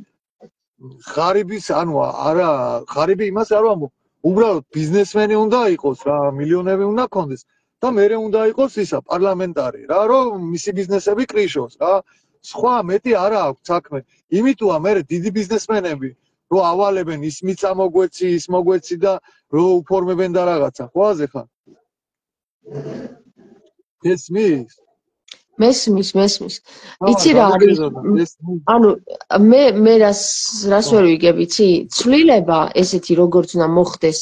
ღარიბის, ანუ არა, ღარიბი იმას არ ვამბობ. უბრალოდ ბიზნესმენი უნდა იყოს რა, მილიონები უნდა ქონდეს და მერე უნდა იყოს ისა პარლამენტარი რა, რომ მისი ბიზნესები კრიშოს რა. სხვა მეტი არა აქვს საქმე. იმიტოა მერე დიდი ბიზნესმენები რო ავალებენ ის მიწა მოგვეცი, ის მოგვეცი და რო უფორმებენ და რაღაცა. ხოაზე ხარ? ესმის? მესმის, მესმის. იცი რა არის? ანუ მე მე რას რას ვერ ვიგებ, იცი? ცვლილება ესეთი როგორც უნდა მოხდეს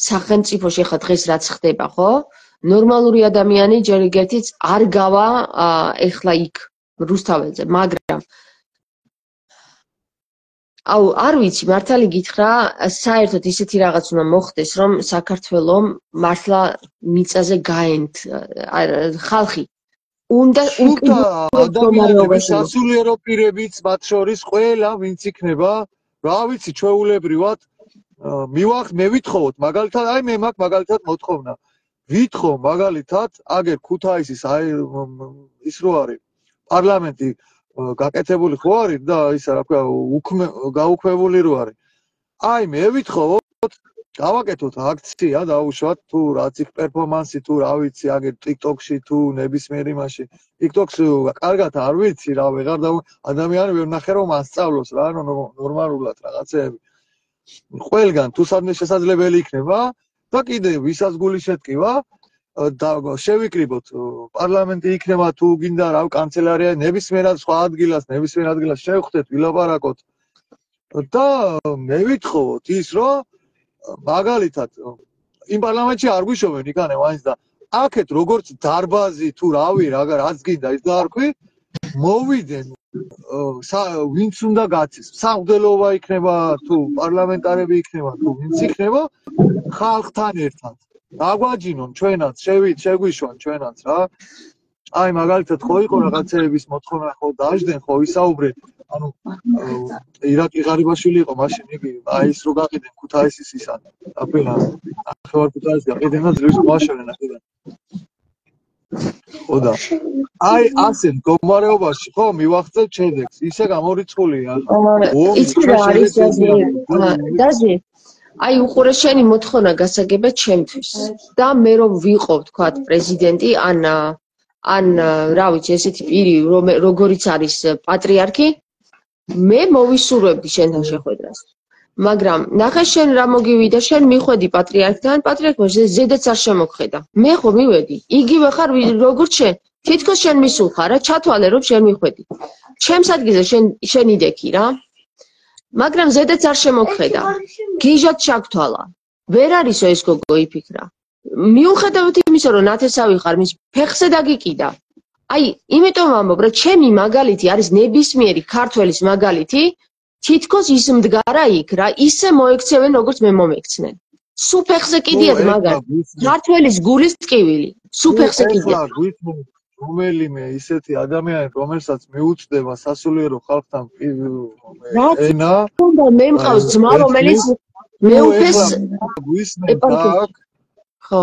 სახელმწიფოში ხა დღეს რაც ხდება, ხო? ნორმალური ადამიანი ჯერ ეგერთიც არ გავა ეხლა იქ რუსთაველზე, მაგრამ აუ არ ვიცი, მართალი გითხრა, საერთოდ ისეთი რაღაც უნდა მოხდეს, რომ საქართველოს მართლა მიწაზე გაენთ ხალხი უნდა ადამიანები სასულიერო პირებიც მათ შორის ყველა ვინც იქნება რა ვიცი ჩვეულებრივად მივახ მე ვითხოვოთ მაგალითად აი მე მაქვს მაგალითად მოთხოვნა ვითხოვ მაგალითად აგერ ქუთაისის აი ის რო არის პარლამენტი გაკეთებული ხო არის და ისა რა ქვია გაუქმებული რო არის აი მე ვითხოვოთ გავაკეთოთ აქცია დაუშვათ თუ რაც იქ პერფორმანსი თუ რა ვიცი აგერ TikTok-ში თუ ნებისმიერ იმაში TikTok-ს კარგად არ ვიცი რა ვეღარ და ადამიანი ვერ ნახე რომ ასწავლოს რა ნორმალურად რაღაცეები ყველგან თუ სადმე შესაძლებელი იქნება და კიდე ვისაც გული შეტკივა და შევიკრიბოთ პარლამენტი იქნება თუ გინდა რა კანცელარია ნებისმიერად სხვა ადგილას ნებისმიერ ადგილას შევხვდეთ ვილაპარაკოთ და მე ვითხოვოთ ის რომ მაგალითად იმ პარლამენტში არ გვიშოვენ იქანე მაინც და აქეთ როგორც დარბაზი თუ რავი რაღა რაც გინდა ის დაარქვი მოვიდნენ ვინც უნდა გაცის სამღვდელოობა იქნება თუ პარლამენტარები იქნება თუ ვინც იქნება ხალხთან ერთად დაგვაჯინონ ჩვენაც შევით შეგვიშვან ჩვენაც რა აი მაგალითად ხო იყო რაღაცეების მოთხოვნა ხო დაждენ ხო ისაუბრეთ ანუ ირაკლი ღარიბაშვილი იყო მაშინ იგი აი ის რო გაყიდენ ქუთაისის ისან აფენა ახევარ ქუთაისს გაყიდენ და ძრის მოაშორენ აქედან ხოდა აი ასე მდგომარეობაში ხო მივახცევ ჩედექს ისე გამორიცხულია იცი რა არის დაზი აი უყურე შენი მოთხოვნა გასაგებად ჩემთვის და მე რომ ვიყო თქვა პრეზიდენტი ან ან რა ვიცი ესეთი პირი როგორიც არის პატრიარქი მე მოვისურვებდი შენთან შეხვედრას მაგრამ ნახე შენ რა მოგივიდა შენ მიხვედი პატრიარქთან პატრიარქმა ზედაც არ შემოგხედა მე ხო მივედი იგივე ხარ როგორც შენ თითქოს შენ მისულ ხარ რა ჩათვალე რომ შენ მიხვედი ჩემს ადგილზე შენ შენ იდექი რა მაგრამ ზედაც არ შემოგხედა გიჟად ჩაგთვალა ვერ არისო ეს გოგო იფიქრა მიუხედავად იმისა რომ ნათესავი ხარ მის ფეხზე დაგიკიდა აი იმიტომ ვამბობ რა ჩემი მაგალითი არის ნებისმიერი ქართველის მაგალითი თითქოს ის მდგარა იქ რა ისე მოექცევენ როგორც მე მომექცნენ სუ ფეხზე კიდიათ მაგალითად ქართველის გულის ტკივილი სუ ფეხზე კიდიათ რომელიმე ისეთი ადამიანი რომელსაც მიუწვდება სასულიერო ხალხთან ენა მე მყავს ძმა რომელიც მეუფეს ხო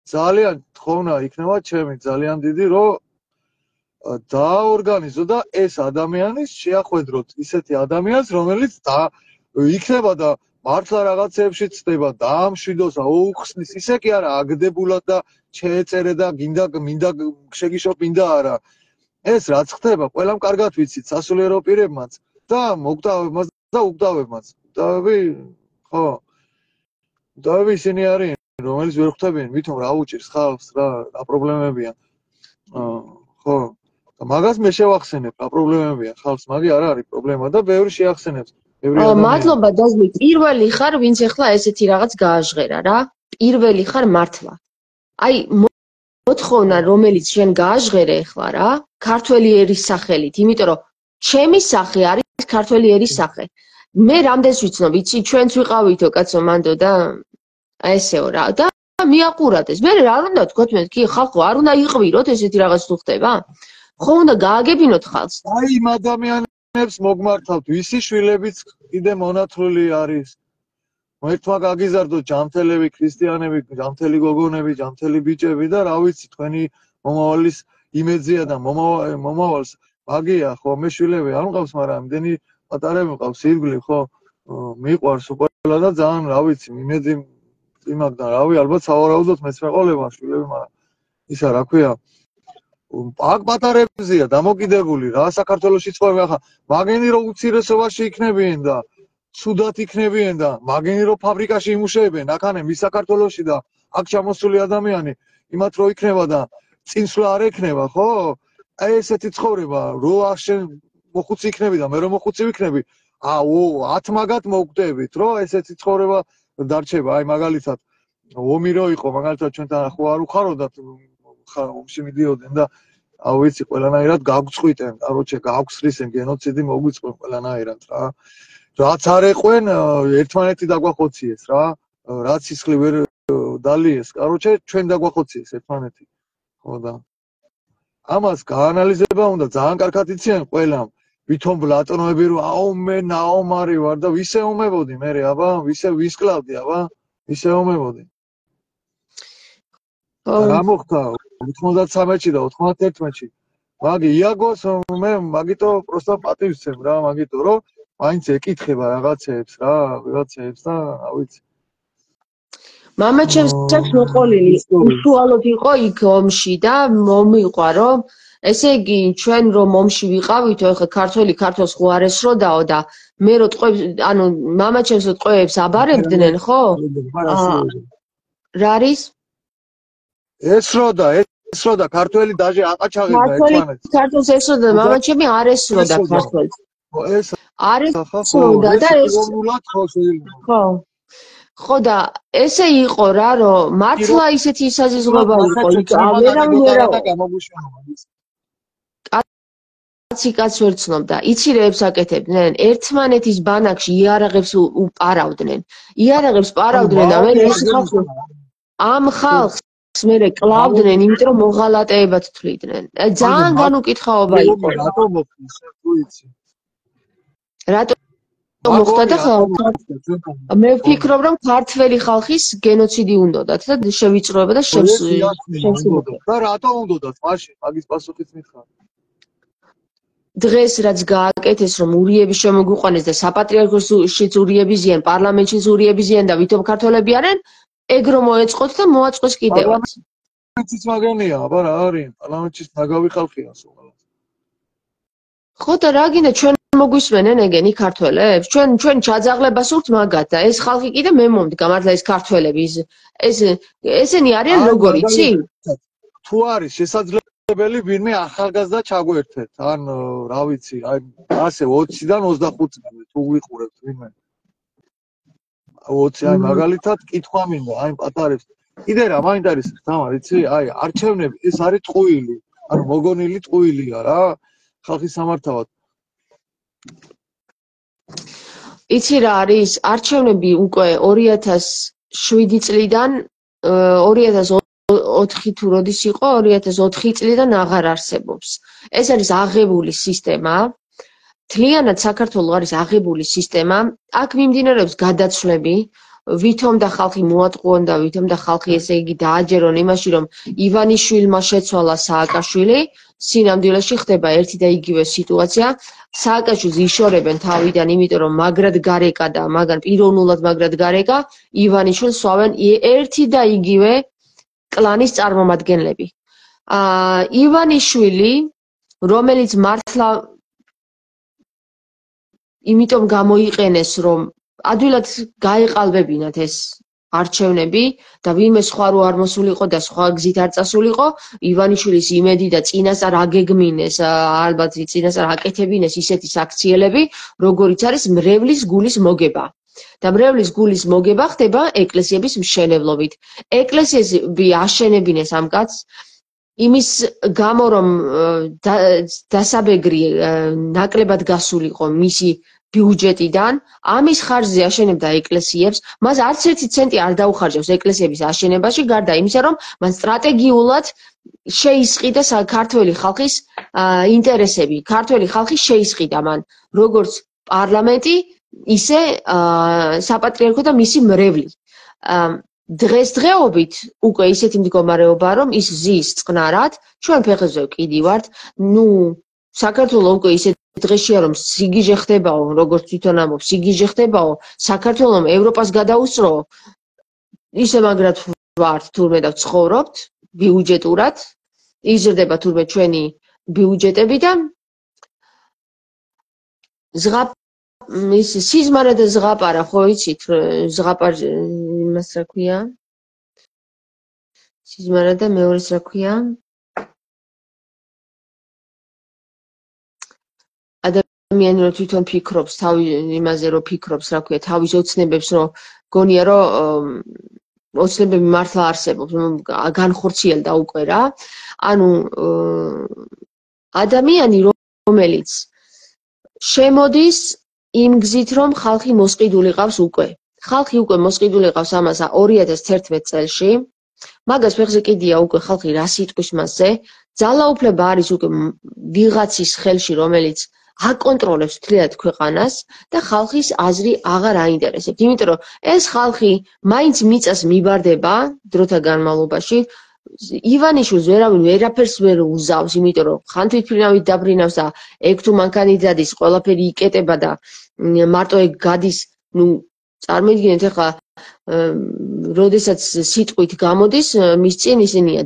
ძალიან თხოვნა იქნება ჩემი ძალიან დიდი რომ დაორგანიზო და ეს ადამიანი შეახვედროთ ისეთი ადამიანს რომელიც და იქნება და მართლა რაღაცეებში ცდება და ამშვიდოს აუხსნის ისე კი არა აგდებულად და შეეწერე და გინდა მინდა შეგიშო მინდა არა ეს რაც ხდება ყველამ კარგად ვიცით სასულიერო პირებმაც და მოგდავებმაც და უგდავებმაც დავი ხო დავი ისინი არიან რომელიც ვერ ხვდებიან ვითომ რა უჭირს ხალხს რა რა პრობლემებია ხო და მაგას მე შევახსენებ რა პრობლემებია ხალხს მაგი არ არის პრობლემა და ბევრი შეახსენებს ბევრი ადამიანი მადლობა დაზმი პირველი ხარ ვინც ახლა ესეთი რაღაც გააჟღერა რა პირველი ხარ მართლა აი მოთხოვნა რომელიც შენ გააჟღერე ახლა რა ქართველი ერის სახელით იმიტომ რომ ჩემი სახე არის ქართველი ერის სახე. მე რამდენს ვიცნობ, იცი, ჩვენც ვიყავითო კაცო მანდო და აი ესეო რა. და მიაყურათეს. მე რა უნდა თქვათ მე, კი ხალხო, არ უნდა იყვიროთ ესეთი რაღაც თუ ხდება? ხო უნდა გააგებინოთ ხალხს. აი იმ ადამიანებს მოგმართავთ, ვისი შვილებიც კიდე მონათლული არის. ერთმა გაგიზარდოთ ჯანმრთელები, ქრისტიანები, ჯანმრთელი გოგონები, ჯანმრთელი ბიჭები და რა ვიცი, თქვენი მომავალის იმედზია და მომავალს მაგია, ხო, მე შვილები არ მყავს, მაგრამ იმდენი პატარები მყავს, ირგვლივ, ხო, მიყვარს ყველა და ძალიან, რა ვიცი, იმედი იმაგდა, რავი, ალბათ სავარაუდოდ მეც მეყოლება შვილები, მაგრამ ისა რა ქვია, აქ პატარებზია დამოკიდებული რა საქართველოში ცხოვრობენ ახლა მაგენი რო უცირესობაში იქნებიან და ცუდად იქნებიან და მაგენი რო ფაბრიკაში იმუშავებენ აქ მის საქართველოში და აქ ჩამოსული ადამიანი იმათ რო იქნება და წინსვლა არ ექნება ხო აი ესეთი ცხოვრება რო აღშენ მოხუცი იქნები და მე რო მოხუცი ვიქნები აუ ათ მაგათ მოგკვდებით რო ესეთი ცხოვრება დარჩება აი მაგალითად ომი რო იყო მაგალითად ჩვენთან ხო არ უხაროდათ ომში მიდიოდნენ და აუ ვიცი ყველანაირად გაგვწყვიტენ, კაროჩე გაგვხსრისენ გენოციდი მოგვიწყვენ ყველანაირად რა. რაც არ ეყვენ ერთმანეთი დაგვახოციეს რა. რაც სისხლი ვერ დალიეს, კაროჩე ჩვენ დაგვახოციეს ერთმანეთი. ხო და ამას გაანალიზება უნდა ძალიან კარგად იციან ყველამ. ვითომ ბლატონოები რომ აუ მე ნაომარი ვარ და ვისე ომებოდი მე აბა, ვისე ვისკლავდი აბა, ვისე ომებოდი. რა მოხდა ოთხმოცდათსამეთში და ოთხმოცდაერთმეთში მაგი იაგოს მე მაგიტო პროსტა პატივცემ რა მაგიტო რომ მაინც ეკითხება რაღაცეებს რა რაღაცეებს და რა ვიცი მამა ჩემს აქვს მოყოლილი უშუალოდ იყო იქ ომში და მომიყვა რომ ესე იგი ჩვენ რომ ომში ვიყავითო ეხლა ქართველი ქართოს ხო არ ესროდაო და მე რო ტყვებს ანუ მამა ჩემს ტყვეებს აბარებდნენ ხო რა არის ესროდა ესროდა ქართველი დაჟე აყაჩაღებდა ერთმანეთს ქართულს ესროდა მამა ჩემი არ ესროდა ქართულს ხო ეს არ ესროდა და ეს ხო ხო და ესე იყო რა რომ მართლა ისეთი საზიზღობა იყო იქ აღერავინ ვერა კაცი კაცს ვერ ცნობდა იცი რეებს აკეთებდნენ ერთმანეთის ბანაკში იარაღებს უპარავდნენ იარაღებს პარავდნენ და მე ეს ხალხი ამ ხალხს მერე კლავდნენ, იმიტომ რომ მოღალატეებად თვლიდნენ. ძალიან განუკითხაობა იყო. რატო მოხდა, თუ იცი? რატო მოხდა და მე ვფიქრობ, რომ ქართველი ხალხის გენოციდი უნდათ და შევიწროება და შევსრულება. და რატო უნდათ მაშინ? მაგის პასუხიც მითხარ. დღეს რაც გააკეთეს, რომ ურიები შემოგვიყვანეს და საპატრიარქოშიც ურიები ზიან, პარლამენტშიც ურიები ზიან და ვითომ ქართველები არიან ეგრო მოეწყოთ და მოაწყვეს კიდევაც. პარლამენტის მაგენია, აბა რა არის? პარლამენტის ნაგავი ხალხია სულ. ხო და რა გინდა ჩვენ მოგვისმენენ ეგენი ქართველებს? ჩვენ ჩვენ ჩაძაღლებას ვურთ მაგათ და ეს ხალხი კიდე მე მომდგა მართლა ეს ქართველები ეს ესენი არიან როგორ იცი? თუ არის შესაძლებელი ვინმე ახალგაზრდა ჩაგვერთეთ, ან რა ვიცი, აი ასე ოციდან ოცდახუთამდე თუ ვიყურებთ ვინმე ოცი აი მაგალითად კითხვა მინდა აი პატარებს კიდე რა მაინტერესებს თამარ იცი აი არჩევნები ეს არის ტყუილი ანუ მოგონილი ტყუილია რა ხალხის სამართავად იცი რა არის არჩევნები უკვე ორი ათას შვიდი წლიდან ორი ათას ოთხი თუ როდის იყო ორი ათას ოთხი წლიდან აღარ არსებობს ეს არის აღებული სისტემა თლიანად საქართველოს არის აღებული სისტემა, აქ მიმდინარეობს გადაცვლები, ვითომ და ხალხი მოატყუონ და ვითომ და ხალხი ესე იგი დააჯერონ იმაში, რომ ივანიშვილმა შეცვალა სააკაშვილი, სინამდვილეში ხდება ერთი და იგივე სიტუაცია, სააკაშვილს იშორებენ თავიდან, იმიტომ რომ მაგრად გარეკა და მაგან პიროვნულად მაგრად გარეკა, ივანიშვილს სვავენ ერთი და იგივე კლანის წარმომადგენლები. აა ივანიშვილი, რომელიც მართლა იმიტომ გამოიყენეს რომ ადვილად გაეყალბებინათ ეს არჩევნები და ვინმე სხვა რო არ მოსულიყო და სხვა გზით არ წასულიყო ივანიშვილის იმედი და წინასწარ აგეგმინეს ალბათ წინასწარ აკეთებინეს ისეთი საქციელები როგორიც არის მრევლის გულის მოგება და მრევლის გულის მოგება ხდება ეკლესიების მშენებლობით ეკლესიები აშენებინეს ამ კაცს იმის გამო რომ დასაბეგრი ნაკლებად გასულიყო მისი ბიუჯეტიდან, ამის ხარჯზე აშენებდა ეკლესიებს, მას არც ერთი ცენტი არ დაუხარჯავს ეკლესიების აშენებაში, გარდა იმისა, რომ მან სტრატეგიულად შეისყიდა ქართველი ხალხის ინტერესები. ქართველი ხალხი შეისყიდა მან, როგორც პარლამენტი, ისე საპატრიარქო და მისი მრევლი. დღესდღეობით უკვე ისეთი მდგომარეობაა, რომ ის ზის წყნარად, ჩვენ ფეხებზე ვკიდივართ, ნუ საქართველოს უკვე ისეთ დღეშია, რომ სიგიჟე ხდებაო, როგორც თვითონ ამბობს, სიგიჟე ხდებაო, საქართველოს ევროპას გადაუსწრო, ისე მაგრად ვართ თურმე და ვცხოვრობთ ბიუჯეტურად, იზრდება თურმე ჩვენი ბიუჯეტები და ზღაპ ის სიზმარა და ზღაპარა, ხო იცით, ზღაპარ იმას რა ქვია? სიზმარა და მეორეს რა ქვია? ადამიანი რომ თვითონ ფიქრობს, თავი იმაზე რომ ფიქრობს, რა ქვია, თავის ოცნებებს რომ გონია რომ ოცნებები მართლა არსებობს, განხორციელდა უკვე რა. ანუ ადამიანი რომელიც შემოდის იმ გზით რომ ხალხი მოსყიდული ყავს უკვე. ხალხი უკვე მოსყიდული ყავს ამას ორი ათას თერთმეტ წელში. მაგას ფეხზე კიდია უკვე ხალხი რა სიტყვის მასზე. ძალაუფლება არის უკვე ვიღაცის ხელში, რომელიც აკონტროლებს მთლიანად ქვეყანას და ხალხის აზრი აღარ აინტერესებს. იმიტომ რომ ეს ხალხი მაინც მიწას მიბარდება დროთა განმავლობაში. ივანიშვილს ვერავინ ვერაფერს ვერ უზავს, იმიტომ რომ ხან თვითმფრინავით დაბრინავს და ეგ თუ მანქანი დადის, ყველაფერი იკეტება და მარტო ეგ გადის, ნუ წარმოიდგინეთ ახლა როდესაც სიტყვით გამოდის, მის წინ ისინია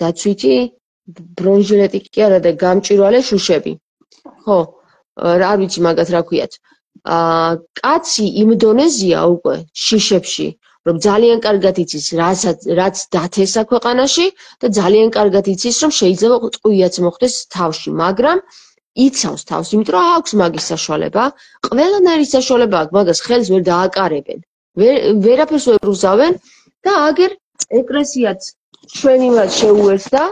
დაცვითი ბრონჟილეტი კი არა და გამჭვირვალე შუშები. ხო, არ ვიცი მაგათ რა ქვიათ. კაცი იმ დონეზეა უკვე შიშებში, რომ ძალიან კარგად იცის, რაც დათესა ქვეყანაში და ძალიან კარგად იცის, რომ შეიძლება ტყუიაც მოხდეს თავში, მაგრამ იცავს თავს, იმიტომ რომ აქვს მაგის საშუალება, ყველანაირი საშუალება აქვს, მაგას ხელს ვერ დააკარებენ. ვერაფერს ვერ უზავენ და აგერ ეკლესიაც ჩვენივად შეუერთდა,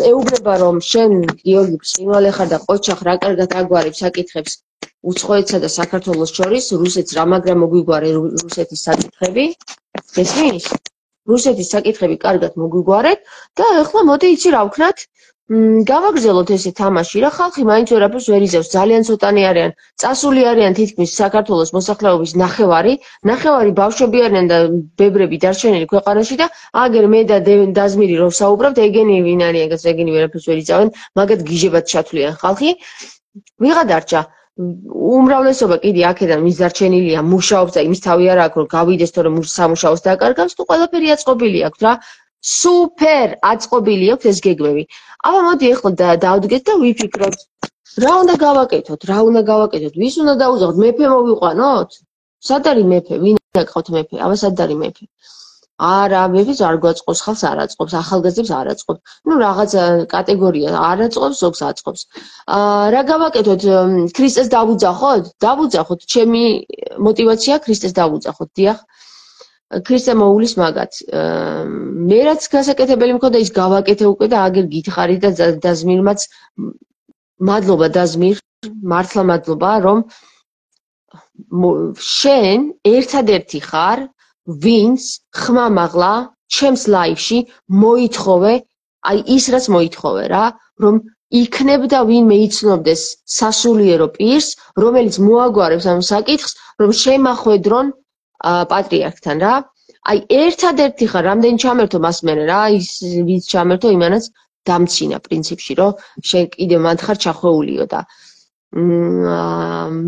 ეუბნება რომ შენ გიორგი ბრწყინვალე ხარ და ყოჩახ რა კარგად აგვარებ საკითხებს უცხოეთსა და საქართველოს შორის, რუსეთს რა მაგრამ მოგვიგვარე რუსეთის საკითხები, გესმის? რუსეთის საკითხები კარგად მოგვიგვარეთ და ეხლა მოდი იცი რა ვქნათ, გავაგრძელოთ ესე თამაში რა, ხალხი მაინც ვერაფერს ვერ იზევს, ძალიან ცოტანი არიან, წასული არიან თითქმის საქართველოს მოსახლეობის ნახევარი, ნახევარი ბავშვები არიან და ბებრები დარჩენილი ქვეყანაში და აგერ მე და დაზმირი რომ საუბრობთ, ეგენი ვინ არიან, ეგენი ვერაფერს ვერ იზავენ, მაგათ გიჟებად ჩათვლიან ხალხი. ვიღა დარჩა უმრავლესობა კიდე აქედან მის დარჩენილია, მუშაობს და იმის თავი არ აქვს რომ გავიდეს თორემ სამუშაოს დაკარგავს, თუ ყველაფერი აწყობილი აქვს რა. სუპერ აწყობილი აქვს ეს გეგმები. აბა მოდი ახლა დავდგეთ და ვიფიქროთ. რა უნდა გავაკეთოთ? რა უნდა გავაკეთოთ? ვის უნდა დაუძახოთ? მეფე მოვიყვანოთ? სად არის მეფე? ვინ აკყავთ მეფე? აბა სად არის მეფე? არა, მეფეს არ გვაწყობს, ხალხს არ აწყობს, ახალგაზრდებს არ აწყობს. ნუ რაღაც კატეგორია არ აწყობს, ზოგს აწყობს. რა გავაკეთოთ? ქრისტეს დავუძახოთ? დავუძახოთ. ჩემი мотиваცია ქრისტეს დავუძახოთ, დიახ. ქრისტე მოულის მაგათ. მე რაც გასაკეთებელი მქონდა ის გავაკეთე უკვე და აგერ გითხარი და დაზმირმაც მადლობა დაზმირ, მართლა მადლობა, რომ შენ ერთადერთი ხარ, ვინც ხმამაღლა ჩემს ლაივში მოითხოვე, აი ის რაც მოითხოვე რა, რომ იქნებ და ვინმე იცნობდეს სასულიერო პირს, რომელიც მოაგვარებს ამ საკითხს, რომ შემახვედრონ პატრიარქთან რა. აი ერთადერთი ხარ, რამდენი ჩამერთო მას მერე რა, ის ვინც ჩამერთო იმანაც დამცინა პრინციპში, რომ შენ კიდე მანდ ხარ ჩახვეულიო და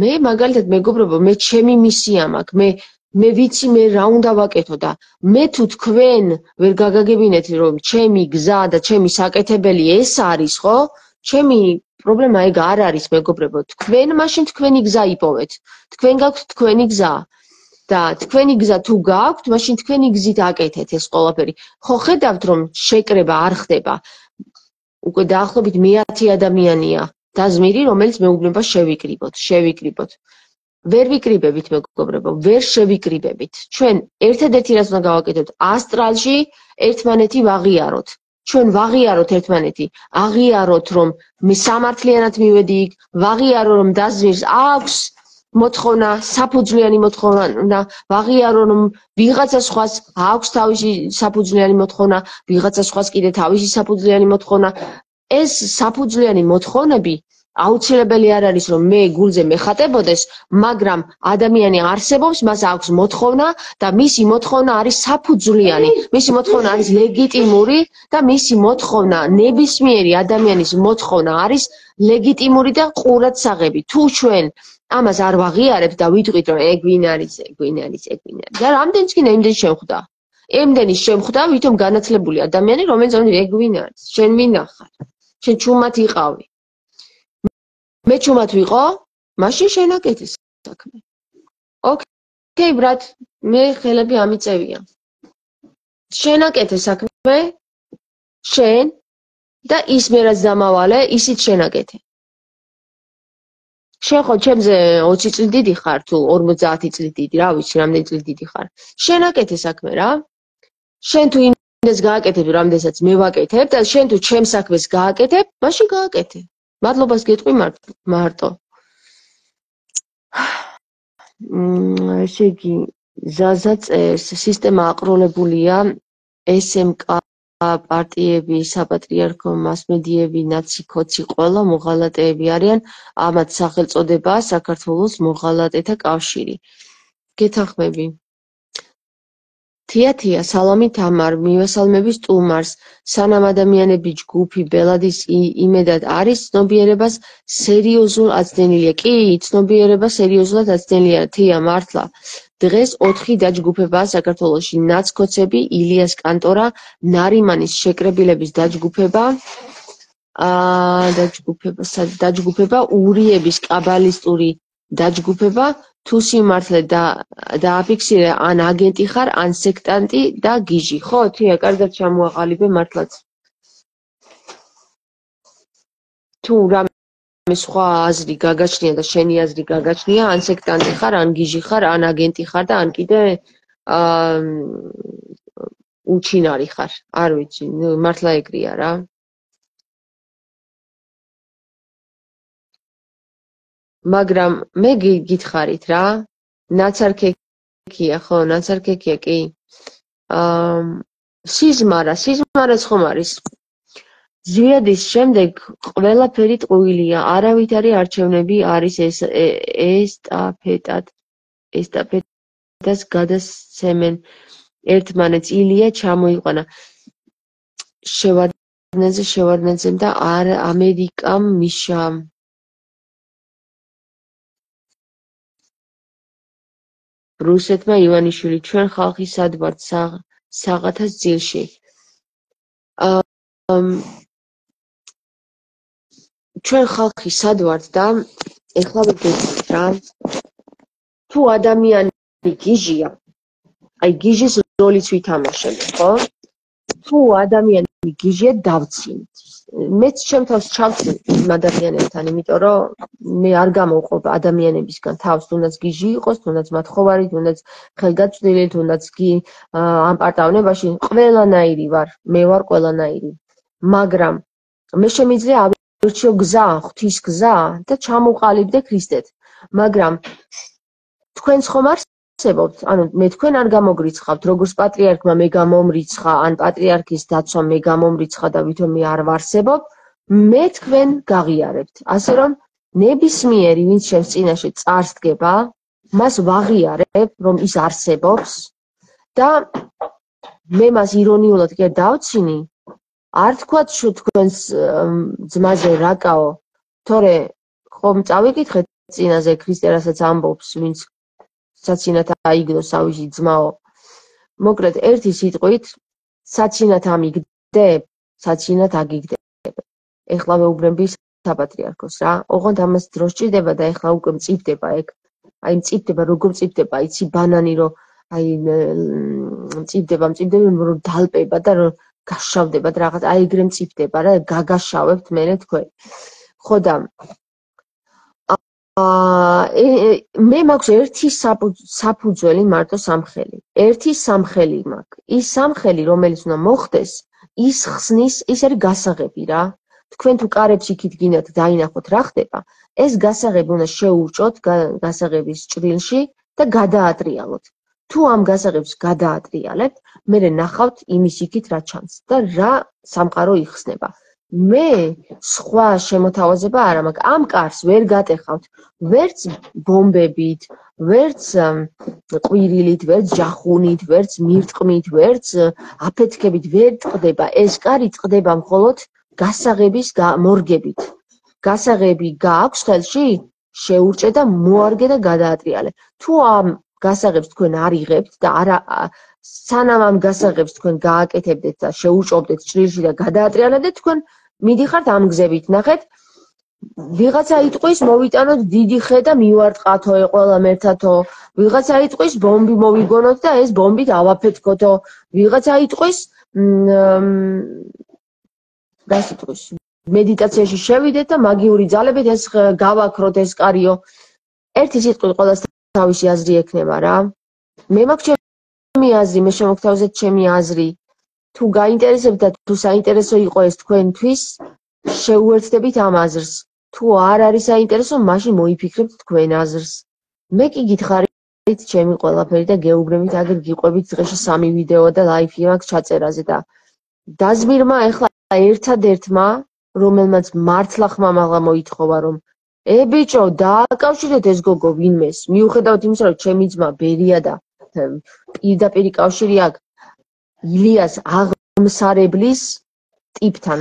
მე მაგალითად მეგობრებო, მე ჩემი მისია მაქვს, მე მე ვიცი მე რა უნდა ვაკეთო და მე თუ თქვენ ვერ გაგაგებინეთ რომ ჩემი გზა და ჩემი საკეთებელი ეს არის, ხო? ჩემი პრობლემა ეგ არ არის მეგობრებო, თქვენ მაშინ თქვენი გზა იპოვეთ. თქვენ გაქვთ თქვენი გზა. და თქვენი გზა თუ გაქვთ, მაშინ თქვენი გზით აკეთეთ ეს ყველაფერი. ხო ხედავთ რომ შეკრება არ ხდება. უკვე დაახლოებით მეათი ადამიანია დაზმირი, რომელიც მეუბნება შევიკრიბოთ, შევიკრიბოთ. ვერ ვიკრიბებით მეგობრებო, ვერ შევიკრიბებით. ჩვენ ერთადერთი რაც უნდა გავაკეთოთ, ასტრალში ერთმანეთი ვაღიაროთ. ჩვენ ვაღიაროთ ერთმანეთი, აღიაროთ რომ მე სამართლიანად მივედი იქ, ვაღიარო რომ დაზვირს აქვს მოთხოვნა, საფუძვლიანი მოთხოვნა, ვაღიარო რომ ვიღაცა სხვას აქვს თავისი საფუძვლიანი მოთხოვნა, ვიღაცა სხვას კიდე თავისი საფუძვლიანი მოთხოვნა. ეს საფუძვლიანი მოთხოვნები აუცილებელი არ არის რომ მე გულზე მეხატებოდეს, მაგრამ ადამიანი არსებობს, მას აქვს მოთხოვნა და მისი მოთხოვნა არის საფუძვლიანი, მისი მოთხოვნა არის ლეგიტიმური და მისი მოთხოვნა, ნებისმიერი ადამიანის მოთხოვნა არის ლეგიტიმური და ყურადსაღები. თუ ჩვენ ამას არ ვაღიარებთ და ვიტყვით რომ ეგ ვინ არის, ეგ ვინ არის, ეგ ვინ არის. და რამდენიც კი იმდენ შემხვდა. იმდენი შემხვდა, ვითომ განათლებული ადამიანი, რომელიც ეგ ვინ არის, შენ ვინ ახარ? შენ ჩუმად იყავი. მე ჩუმად ვიყო, მაშინ შენაკეთე საქმე. ოკეი, ბრატ, მე ხელები ამიწევია. შენაკეთე საქმე, შენ და ის მე რაც დამავალე, ისიც შენაკეთე. შენ ხო ჩემზე ოცი წლი დიდი ხარ თუ ორმოცდაათი წლი დიდი, რა ვიცი, რამდენი წლი დიდი ხარ. შენაკეთე საქმე რა. შენ თუ იმდეს გააკეთებ, რამდენსაც მე ვაკეთებ და შენ თუ ჩემს საქმეს გააკეთებ, მაშინ გააკეთე. მადლობას გეტყვი მარტო. ესე იგი, ზაზა წერს, სისტემა აყროლებულია, ეს ემ კა პარტიები, საპატრიარქო მასმედიები, ნაცი ქოცი ყველა მოღალატეები არიან, ამათ სახელწოდებაა საქართველოს მოღალატეთა კავშირი. გეთანხმები. თია თია, სალამი თამარ, მივესალმების სტუმარს, სანამ ადამიანები ჯგუფი ბელადის იმედად არის, ცნობიერებას სერიოზულ აცდენილია. კი, ცნობიერება სერიოზულად აცდენილია, თია, მართლა. დღეს ოთხი დაჯგუფებაა საქართველოში, ნაცქოცები, ილიას კანტორა, ნარიმანის შეკრებილების დაჯგუფება, დაჯგუფება, დაჯგუფება, ურიების კაბალისტური დაჯგუფება, თუ სიმართლე დააფიქსირე, ან აგენტი ხარ, ან სექტანტი და გიჟი. ხო, თია, კარგად ჩამოაყალიბე მართლაც. თუ რამე სხვა აზრი გაგაჩნია და შენი აზრი გაგაჩნია, ან სექტანტი ხარ, ან გიჟი ხარ, ან აგენტი ხარ და ან კიდე უჩინარი ხარ. არ ვიცი, მართლა ეგრეა რა. მაგრამ მე გითხარით რა, ნაცარქექია, ხო, ნაცარქექია, კი. სიზმარა, სიზმარაც ხომ არის. ზვიადის შემდეგ ყველაფერი ტყუილია, არავითარი არჩევნები არის ესტაფეტად, ესტაფეტას გადასცემენ ერთმანეთს, ილია ჩამოიყვანა. შევარდნაძე, შევარდნაძემ და ამერიკამ მიშამ. რუსეთმა ივანიშვილი, ჩვენ ხალხი სად ვართ საღათას ძილში. ჩვენ ხალხი სად ვართ და ეხლა ვიგეთ რა. თუ ადამიანი გიჟია, აი გიჟის როლიც ვითამაშებ, ხო? თუ ადამიანი გიჟია, დავცინთ. მეც ჩემ თავს ჩავცინთ იმ ადამიანებთან, იმიტომ რომ მე არ გამოვყოფ ადამიანებისგან თავს, თუნდაც გიჟი იყოს, თუნდაც მათხოვარი, თუნდაც ხელგაწვდილი, თუნდაც ამ პარტავნებაში ყველანაირი ვარ, მე ვარ ყველანაირი. მაგრამ მე შემიძლია ავირჩიო გზა, ღვთის გზა და ჩამოვყალიბდე ქრისტეთ. მაგრამ თქვენც ხომ არსებობთ, ანუ მე თქვენ არ გამოგრიცხავთ, როგორც პატრიარქმა მე გამომრიცხა, ან პატრიარქის დაცვა მე გამომრიცხა და ვითომ მე არ ვარსებობ, მე თქვენ გაღიარებთ. ასე რომ ნებისმიერი, ვინც ჩემს წინაშე წარს დგება, მას ვაღიარებ, რომ ის არსებობს და მე მას ირონიულად კი დავცინი, არ თქვათ თქვენს ძმაზე რაკაო, თორე ხომ წავიკითხეთ წინაზე ქრისტე რასაც ამბობს, ვინც საცინათ აიგდო სავიში ძმაო. მოკლედ ერთი სიტყვით, საცინათ ამიგდებ, საცინათ აგიგდებ. ეხლა ვეუბნები საპატრიარქოს რა. ოღონდ ამას დრო სჭირდება და ეხლა უკვე მწიფდება ეგ. აი მწიფდება, როგორ მწიფდება, იცი ბანანი რომ აი მწიფდება, მწიფდება, რომ დალპება და რომ გაშავდება და რაღაც აი ეგრე მწიფდება რა, გაგაშავებთ მერე თქვენ. ხო და მე მაქვს ერთი საფუძველი, მარტო სამხელი. ერთი სამხელი მაქვს. ის სამხელი, რომელიც უნდა მოხდეს ის ხსნის, ის არის გასაღები რა. თქვენ თუ კარებს იქით გინდათ დაინახოთ რა ხდება, ეს გასაღები უნდა შეურჭოთ გასაღების ჭრილში და გადაატრიალოთ. თუ ამ გასაღებს გადაატრიალებთ, მერე ნახავთ იმის იქით რა ჩანს და რა სამყარო იხსნება. მე სხვა შემოთავაზება არ მაქვს. ამ კარს ვერ გატეხავთ ვერც ბომბებით, ვერც ყვირილით, ვერც ჯახუნით, ვერც მირტყმით, ვერც აფეთქებით ვერ ტყდება. ეს კარი ტყდება მხოლოდ გასაღების მორგებით. გასაღები გააქვს ხელში, შეურჭე და მოარგე და გადაატრიალე. თუ ამ გასაღებს თქვენ არ იღებთ და არა სანამ ამ გასაღებს თქვენ გააკეთებდეთ და შეუჭობდეთ ჭრილში და გადაატრიალებდეთ, თქვენ მიდიხართ ამ გზებით. ნახეთ, ვიღაცა იტყვის მოვიტანოთ დიდი ხე და მივარტყათო ყველა ერთათო, ვიღაცა იტყვის ბომბი მოვიგონოთ და ეს ბომბით ავაფეთქოთო, ვიღაცა იტყვის რას იტყვის მედიტაციაში შევიდეთ და მაგიური ძალებით ეს გავაქროთ ეს კარიო. ერთი სიტყვით ყველას თავისი აზრი ექნება რა. მე მაქვს ჩემი აზრი, მე შემოგთავაზეთ ჩემი აზრი. თუ გაინტერესებთ და თუ საინტერესო იყო ეს თქვენთვის, შეუერთდებით ამ აზრს. თუ არ არის საინტერესო, მაშინ მოიფიქრებთ თქვენ აზრს. მე კი გითხარით ჩემი ყველაფერი და გეუბნებით, აგერ გიყვებით დღეში სამი ვიდეო და ლაიფი მაქვს ჩაწერაზე და დაზმირმა ეხლა ერთადერთმა, რომელმაც მართლა ხმამაღლა მოითხოვა, რომ ე ბიჭო, დააკავშირეთ ეს გოგო ვინმეს. მიუხედავად იმისა, რომ ჩემი ძმა ბერია და პირდაპირი კავშირი აქვს ილიას აღმსარებლის ტიპთან,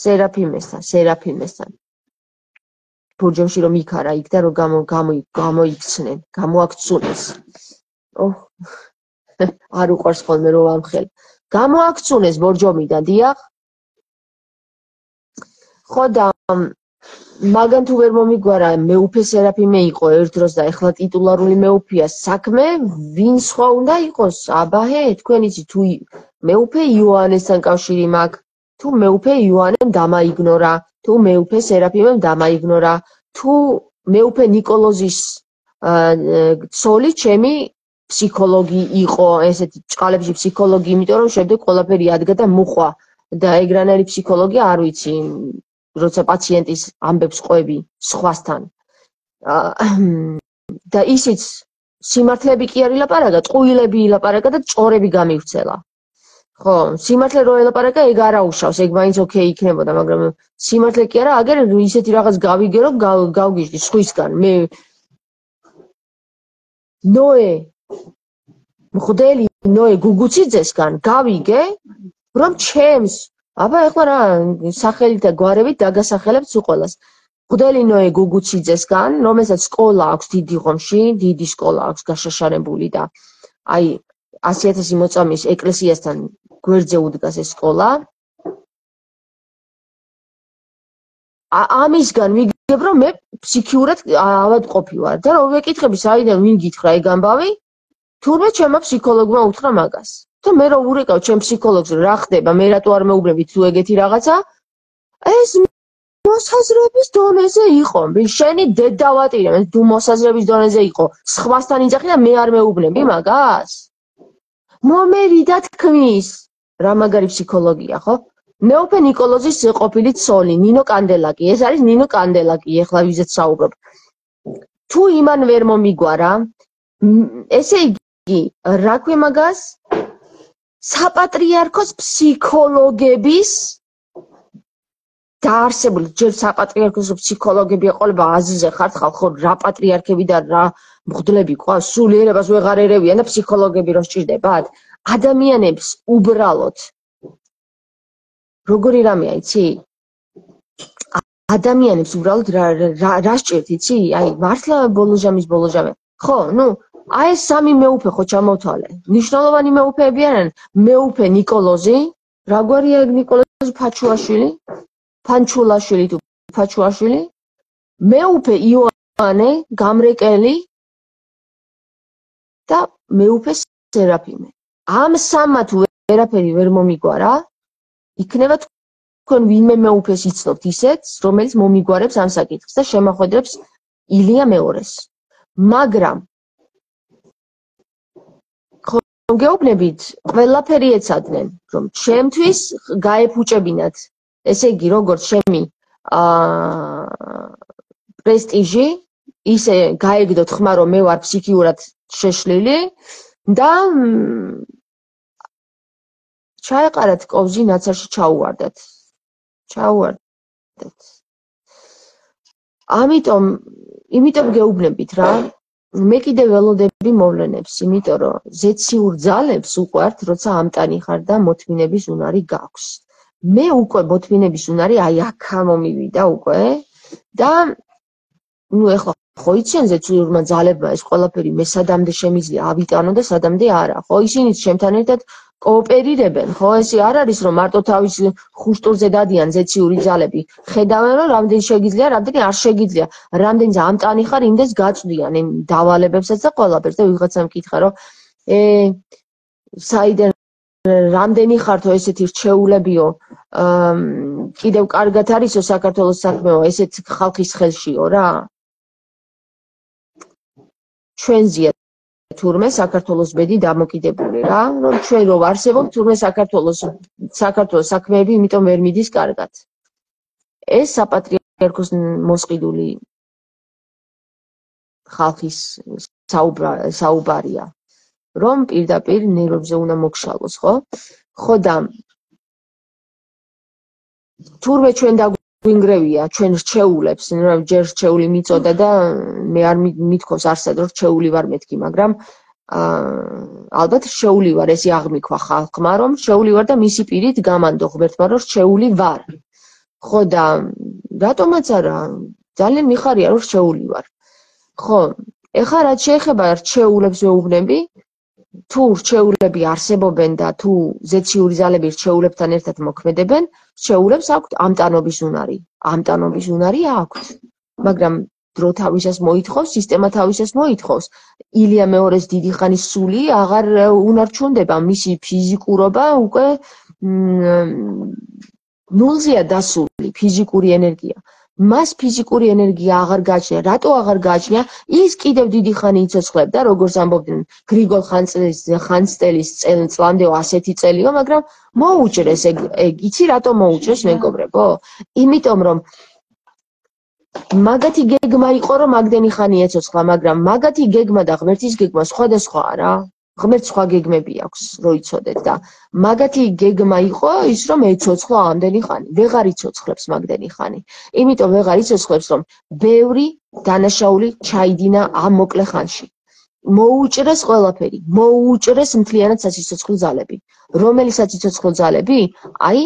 სერაფიმესთან, სერაფიმესთან. ბურჯომში რომ იქარა იქ და რომ გამოიქცნენ, გამოაქცუნეს. ოჰ, არ უყვარს ხოლმე რომ ამხელ. გამოაქცუნეს ბორჯომიდან, დიახ. ხო და მაგან თუ ვერ მომიგვარა მეუფე სერაფიმე იყო ერთ დროს და ეხლა ტიტულარული მეუფეა საქმე, ვინ სხვა უნდა იყოს? აბაჰე, თქვენ იცით თუ მეუფე იოანესთან კავშირი მაქვს, თუ მეუფე იოანემ დამაიგნორა, თუ მეუფე სერაფიმემ დამაიგნორა, თუ მეუფე ნიკოლოზის ცოლი ჩემი ფსიქოლოგი იყო, ესეთი ჭყალებში ფსიქოლოგი, იმიტომ რომ შემდეგ ყველაფერი ადგა და მუხვა და ეგრანელი ფსიქოლოგი არ ვიცი. როცა პაციენტის ამბებს ყვები სხვასთან. და ისიც სიმართლეები კი არ ილაპარაკა, ტყუილები ილაპარაკა და ჭორები გამივრცელა. ხო, სიმართლე რო ელაპარაკა, ეგ არ აუშავს, ეგ მაინც ოკეი იქნებოდა, მაგრამ სიმართლე კი არა, აგერ ისეთი რაღაც გავიგერო, გავგიჟდი სხვისგან. მე ნოე მღვდელი ნოე გუგუციძესგან გავიგე, რომ ჩემს აბა ეხლა რა სახელით და გვარებით დაგასახელებთ უყოლას. მღვდელი ნოე გუგუციძესგან, რომელსაც სკოლა აქვს დიდი ხომში, დიდი სკოლა აქვს გაშაშარებული და აი ასი ათასი მოწამის ეკლესიასთან გვერდზე უდგას ეს სკოლა. ამისგან ვიგებ, რომ მე ფსიქიურად ავადმყოფი ვარ და რომ ვეკითხები, საიდან ვინ გითხრა ეგ ამბავი, თურმე ჩემმა ფსიქოლოგმა უთხრა მაგას. და მე რო ურეკავ ჩემ ფსიქოლოგს რა ხდება, მე რატო არ მეუბნებით თუ ეგეთი რაღაცა? ეს მოსაზრების დონეზე იყო. შენი დედავატირე, მე თუ მოსაზრების დონეზე იყო, სხვასთან იძახი და მე არ მეუბნები მაგას? მომერიდა თქმის. რა მაგარი ფსიქოლოგია, ხო? მეუფე ნიკოლოზის ყოფილი ცოლი, ნინო კანდელაკი. ეს არის ნინო კანდელაკი, ეხლა ვიზეთ საუბრობ. თუ იმან ვერ მომიგვარა, ესე იგი, რა ქვია მაგას? საპატრიარქოს ფსიქოლოგების დაარსებული, ჯერ საპატრიარქოს ფსიქოლოგები ეყოლება აზიზე ხართ ხალხო, რა პატრიარქები და რა მღვდლები ყავს, სულიერებას ვეღარ ერევიან და ფსიქოლოგები რო სჭირდებათ? ადამიანებს უბრალოდ როგორი რამეა, იცი? ადამიანებს უბრალოდ რა სჭირთ, იცი? აი, მართლა ბოლოჟამის ბოლოჟამე. ხო, ნუ აი ეს სამი მეუფე ხო ჩამოვთვალე. ნიშნულოვანი მეუფეები არიან. მეუფე ნიკოლოზი, რა გვარია ეგ ნიკოლოზი ფაჩუაშვილი? ფანჩულაშვილი თუ ფაჩუაშვილი? მეუფე იოანე გამრეკელი და მეუფე სერაფიმე. ამ სამმა თუ ვერაფერი ვერ მომიგვარა, იქნება თქვენ ვინმე მეუფეს იცნობთ ისეთ, რომელიც მომიგვარებს ამ საკითხს და შემახვედრებს ილია მეორეს. მაგრამ გეუბნებით, ყველაფერი ეცადნენ, რომ ჩემთვის გაეფუჭებინათ, ესე იგი, როგორც ჩემი პრესტიჟი, ისე გაეგდოთ ხმა, რომ მე ვარ ფსიქიურად შეშლილი და ჩაეყარათ კოვზი ნაცარში ჩაუვარდათ. ჩაუვარდათ. ამიტომ, იმიტომ გეუბნებით რა, მე კიდე ველოდები მოვლენებს, იმიტომ რომ ზეციურ ძალებს უყვართ, როცა ამტანი ხარ და მოთმინების უნარი გაქვს. მე უკვე მოთმინების უნარი აი აქა მომივიდა უკვე და ნუ ეხლა ხო იციან ზეციურმა ძალებმა ეს ყველაფერი მე სადამდე შემიძლია ავიტანო და სადამდე არა, ხო ისინიც ჩემთან ერთად კოოპერირებენ, ხო ესე არ არის რომ მარტო თავის ხუშტურზე დადიან ზეციური ძალები. ხედავენ რომ რამდენი შეგიძლია, რამდენი არ შეგიძლია, რამდენი ამტანი ხარ, იმდეს გაწვდიან იმ დავალებებსაც და ყველაფერს და ვიღაცამ მკითხა რომ ე საიდან რამდენი ხართო ესეთი რჩეულებიო, კიდევ კარგად არისო საქართველოს საქმეო, ესეთ ხალხის ხელშიო რა. ჩვენზეა თურმე საქართველოს ბედი დამოკიდებული რა, რომ ჩვენ რო ვარსებობ, თურმე საქართველოს საქართველოს საქმეები იმიტომ ვერ მიდის კარგად. ეს საპატრიარქოს მოსყიდული ხალხის საუბარია, რომ პირდაპირ ნერვებზე უნდა მოგშალოს, ხო? ხო და თურმე ჩვენ დაგვინგრევია ჩვენ რჩეულებს, ჯერ რჩეული მიწოდა და მე არ მithქოს არსად რომ რჩეული ვარ მეთქი, მაგრამ ალბათ რჩეული ვარ, ესე აღმიქვა ხალხმა, რომ რჩეული ვარ და მისი პირით გამანდო ღმერთმა, რომ რჩეული ვარ. ხო და რატომაც არა, ძალიან მიხარია რომ რჩეული ვარ. ხო, ეხლა რაც შეეხება რჩეულებს ვეუბნები, თუ რჩეულები არსებობენ და თუ ზეციური ძალები რჩეულებთან ერთად მოქმედებენ, რჩეულებს აქვთ ამტანობის უნარი. ამტანობის უნარი აქვთ, მაგრამ დრო თავისას მოითხოვს, სისტემა თავისას მოითხოვს. ილია მეორეს დიდი ხანის სული აღარ უნარჩუნდება, მისი ფიზიკურობა უკვე ნულზეა დასული, ფიზიკური ენერგია. მას ფიზიკური ენერგია აღარ გააჩნია. რატო აღარ გააჩნია? ის კიდევ დიდი ხანი იცოცხლებდა, როგორც ამბობდნენ გრიგოლ ხანძთელის წლამდე ასეთი წელიო, მაგრამ მოუჭრეს ეგ, ეგ იცი რატო მოუჭრეს მეგობრებო? იმიტომ რომ მაგათი გეგმა იყო, რომ მაგდენი ხანი ეცოცხლა, მაგრამ მაგათი გეგმა და ღმერთის გეგმა სხვადასხვაა რა. ღმერთს სხვა გეგმები აქვს, რო იცოდეთ და მაგათი გეგმა იყო ის, რომ ეცოცხლა ამდენი ხანი. ვეღარ იცოცხლებს მაგდენი ხანი. იმიტომ ვეღარ იცოცხლებს, რომ ბევრი დანაშაული ჩაიდინა ამ მოკლე ხანში. მოუჭრეს ყველაფერი, მოუჭრეს მთლიანად საციცოცხლო ძალები. რომელი საციცოცხლო ძალები? აი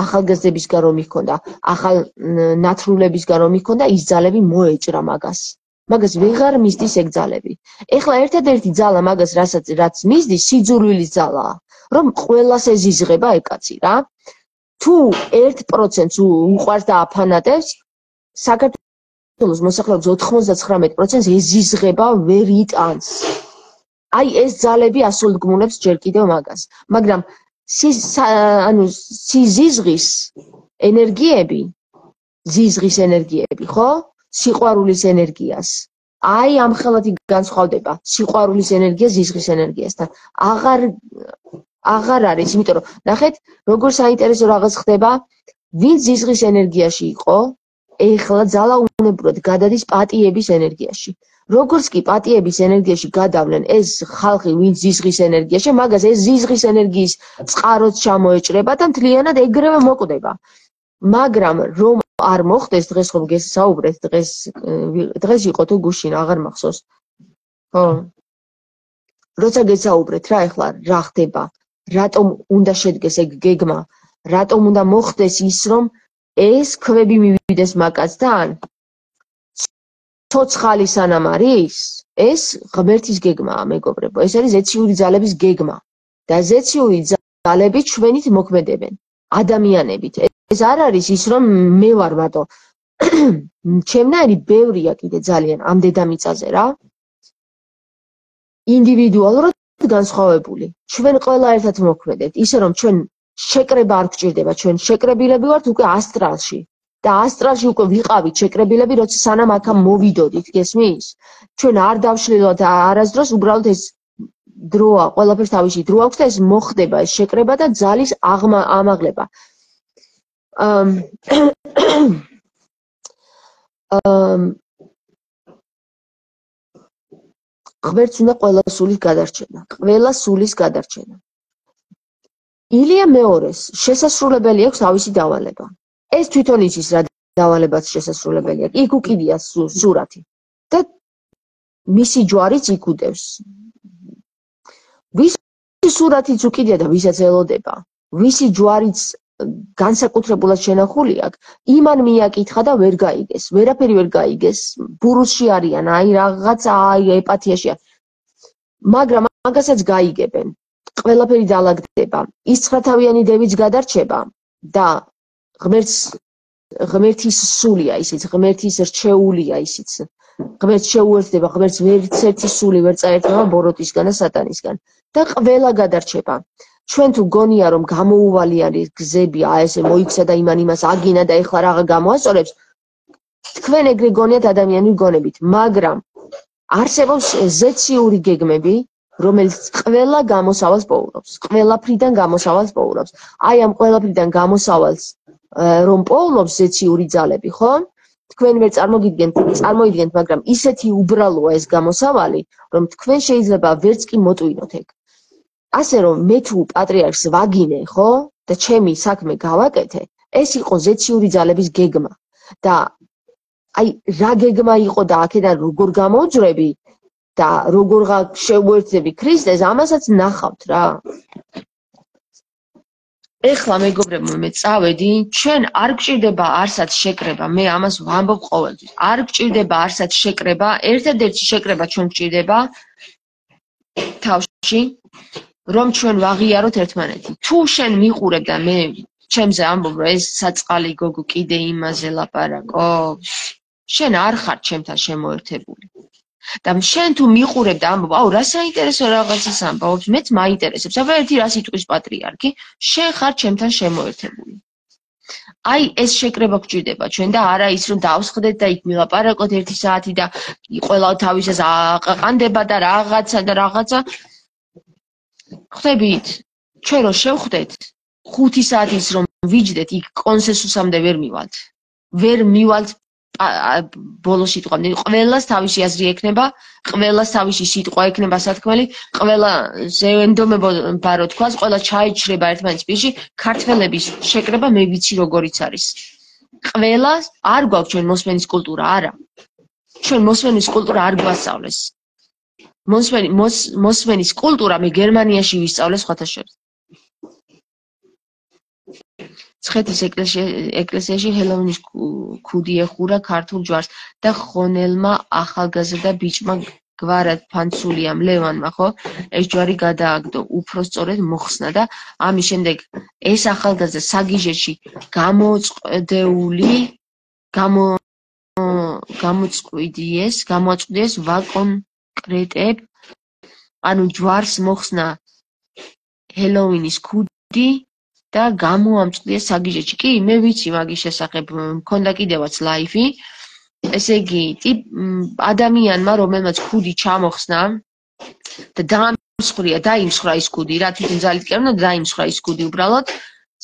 ახალგაზრდებისგან რომ იქონდა, ახალ ნათრულებისგან რომ იქონდა, ის ძალები მოეჭრა მაგას. მაგას ვეღარ მისდის ეგ ძალები. ეხლა ერთადერთი ძალა მაგას რასაც რაც მისდის, სიძულვილის ძალაა, რომ ყველას ეზიზღება ეგ კაცი რა. თუ ერთ პროცენტს უყვარს და აფანატებს, საქართველოს მოსახლეობის ოთხმოცდათხრამეტ პროცენტს ეზიზღება ვერ იტანს. აი ეს ძალები ასულდგმულებს ჯერ კიდევ მაგას. მაგრამ ანუ სიზიზღის ენერგიები, ზიზღის ენერგიები, ხო? სიყვარულის ენერგიას. აი ამ ხელათი განსხვავდება სიყვარულის ენერგია ზიზღის ენერგიასთან. აღარ აღარ არის, იმიტომ რომ ნახეთ, როგორ საინტერესო რაღაც ხდება, ვინც ზიზღის ენერგიაში იყო, ეხლა ძალაუნებურად გადადის პატიების ენერგიაში. როგორც კი პატიების ენერგიაში გადავლენ ეს ხალხი, ვინც ზიზღის ენერგიაში, მაგას ეს ზიზღის ენერგიის წყაროც ჩამოეჭრება და მთლიანად ეგრევე მოკვდება. მაგრამ რომ არ მოხდეს, დღეს ხომ გესაუბრეთ, დღეს დღეს იყო თუ გუშინ აღარ მახსოვს. ხო. როცა გესაუბრეთ რა ეხლა რა ხდება? რატომ უნდა შედგეს ეგ გეგმა? რატომ უნდა მოხდეს ის, რომ ეს ქვები მივიდეს მაგასთან? ცოცხალი სანამ არის, ეს ღმერთის გეგმაა, მეგობრებო. ეს არის ზეციური ძალების გეგმა. და ზეციური ძალები ჩვენით მოქმედებენ, ადამიანებით. ეს არ არის ის, რომ მე ვარ მარტო ჩემნაირი ბევრია კიდე ძალიან ამ დედამიწაზე რა. ინდივიდუალურად განსხვავებული. ჩვენ ყველა ერთად მოქმედებთ, ისე რომ ჩვენ შეკრება არ გვჭირდება, ჩვენ შეკრებილები ვართ უკვე ასტრალში. და ასტრალში უკვე ვიყავით შეკრებილები, როცა სანამ აქ მოვიდოდით, გესმის? ჩვენ არ დავშლილოთ არასდროს, უბრალოდ ეს დროა, ყველაფერს თავისი დრო აქვს და ეს მოხდება, ეს შეკრება და ძალის ამაღლება. ღმერთს უნდა ყველა სულის გადარჩენა, ყველა სულის გადარჩენა. ილია მეორეს შესასრულებელი აქვს თავისი დავალება. ეს თვითონ იცის რა დავალებაც შესასრულებელი აქვს. იქ უკიდია სურათი და მისი ჯვარიც იქუდევს. ვის სურათიც უკიდია და ვისაც ელოდება, ვისი ჯვარიც განსაკუთრებულად შენახული აქვს, იმან მიაკითხა და ვერ გაიგეს, ვერაფერი ვერ გაიგეს, ბურუსში არიან, აი რაღაცა აი ეპათიაშია. მაგრამ მაგასაც გაიგებენ. ყველაფერი დაალაგდება. ის ცხრათავიანი დევიც გადარჩება და ღმერთს ღმერთის სულია ისიც, ღმერთის რჩეულია ისიც. ღმერთს შეუერთდება, ღმერთს ვერც ერთი სული ვერ წაერთმევა ბოროტისგან და სატანისგან და ყველა გადარჩება. ჩვენ თუ გონია რომ გამოუვალიანი გზები აი ესე მოიქცა და იმან იმას აგინა და ეხლა რაღა გამოასწორებს, თქვენ ეგრე გონიათ ადამიანური გონებით, მაგრამ არსებობს ზეციური გეგმები, რომელიც ყველა გამოსავალს პოულობს, ყველაფრიდან გამოსავალს პოულობს. აი ამ ყველაფრიდან გამოსავალს რომ პოულობს ზეციური ძალები, ხო? თქვენ ვერ წარმოგიდგენთ, წარმოიდგენთ, მაგრამ ისეთი უბრალოა ეს გამოსავალი, რომ თქვენ შეიძლება ვერც კი მოტვინოთ ეგ. ასე რომ მე თუ პატრიარქს ვაგინე, ხო? და ჩემი საქმე გავაკეთე, ეს იყო ზეციური ძალების გეგმა. და აი რა გეგმა იყო და აქედან როგორ გამოვძვრები და როგორ შევუერთდები ქრისტეს, ამასაც ნახავთ რა. ეხლა მეგობრებო, მე წავედი, ჩვენ არ გჭირდება არსად შეკრება, მე ამას ვამბობ ყოველთვის. არ გჭირდება არსად შეკრება, ერთადერთი შეკრება ჩვენ გჭირდება თავში, რომ ჩვენ ვაღიაროთ ერთმანეთი. თუ შენ მიყურებ და მე ჩემზე ამბობ, რომ ეს საწყალი გოგო კიდე იმაზე ლაპარაკობს, შენ არ ხარ ჩემთან შემოერთებული. და შენ თუ მიყურებ და ამბობ, აუ, რა საინტერესო რაღაცას ამბობს, მეც მაინტერესებს. აბა ერთი რას იტყვის პატრიარქი, შენ ხარ ჩემთან შემოერთებული. აი ეს შეკრება გჭირდება ჩვენ და არა ის რომ დავსხდეთ და იქ მილაპარაკოთ ერთი საათი და ყველა თავისას აყანდება და რაღაცა და რაღაცა. ხვდებით, ჩვენ რო შევხვდეთ, ხუთი საათის რომ ვიჯდეთ, იქ კონსენსუსამდე ვერ მივალთ. ვერ მივალთ ბოლოს სიტყვამდე. ყველას თავისი აზრი ექნება, ყველას თავისი სიტყვა ექნება სათქმელი, ყველა ზევენდომება რო თქვას, ყველა ჩაიჩრება ერთმანეთის პირში, ქართველების შეკრება მე ვიცი როგორიც არის. ყველას არ გვაქვს ჩვენ მოსმენის კულტურა, არა. ჩვენ მოსმენის კულტურა არ გვასწავლეს. მოსმენი მოსმენის კულტურა მე გერმანიაში ვისწავლე სხვათა შორის. ცხეთის ეკლესიაში ჰელოვინის ქუდი ეხურა ქართულ ჯვარს და ხონელმა ახალგაზრდა ბიჭმა გვარად ფანცულიამ ლევანმა, ხო? ეს ჯვარი გადააგდო, უფრო სწორედ მოხსნა და ამის შემდეგ ეს ახალგაზრდა საგიჟეში გამოწყვდეული გამო გამოწყვდიეს, გამოაწყვდიეს ვაკონკრეტებ, ანუ ჯვარს მოხსნა ჰელოვინის ქუდი და გამოამწყვდიეს საგიჟეში. კი, მე ვიცი მაგის შესახებ, მქონდა კიდევაც ლაიფი. ესე იგი, ადამიანმა, რომელმაც ქუდი ჩამოხსნა და დაამსხვრია, დაიმსხვრა ის ქუდი, რა თვითონ ძალით კი არ უნდა დაიმსხვრა ის ქუდი უბრალოდ,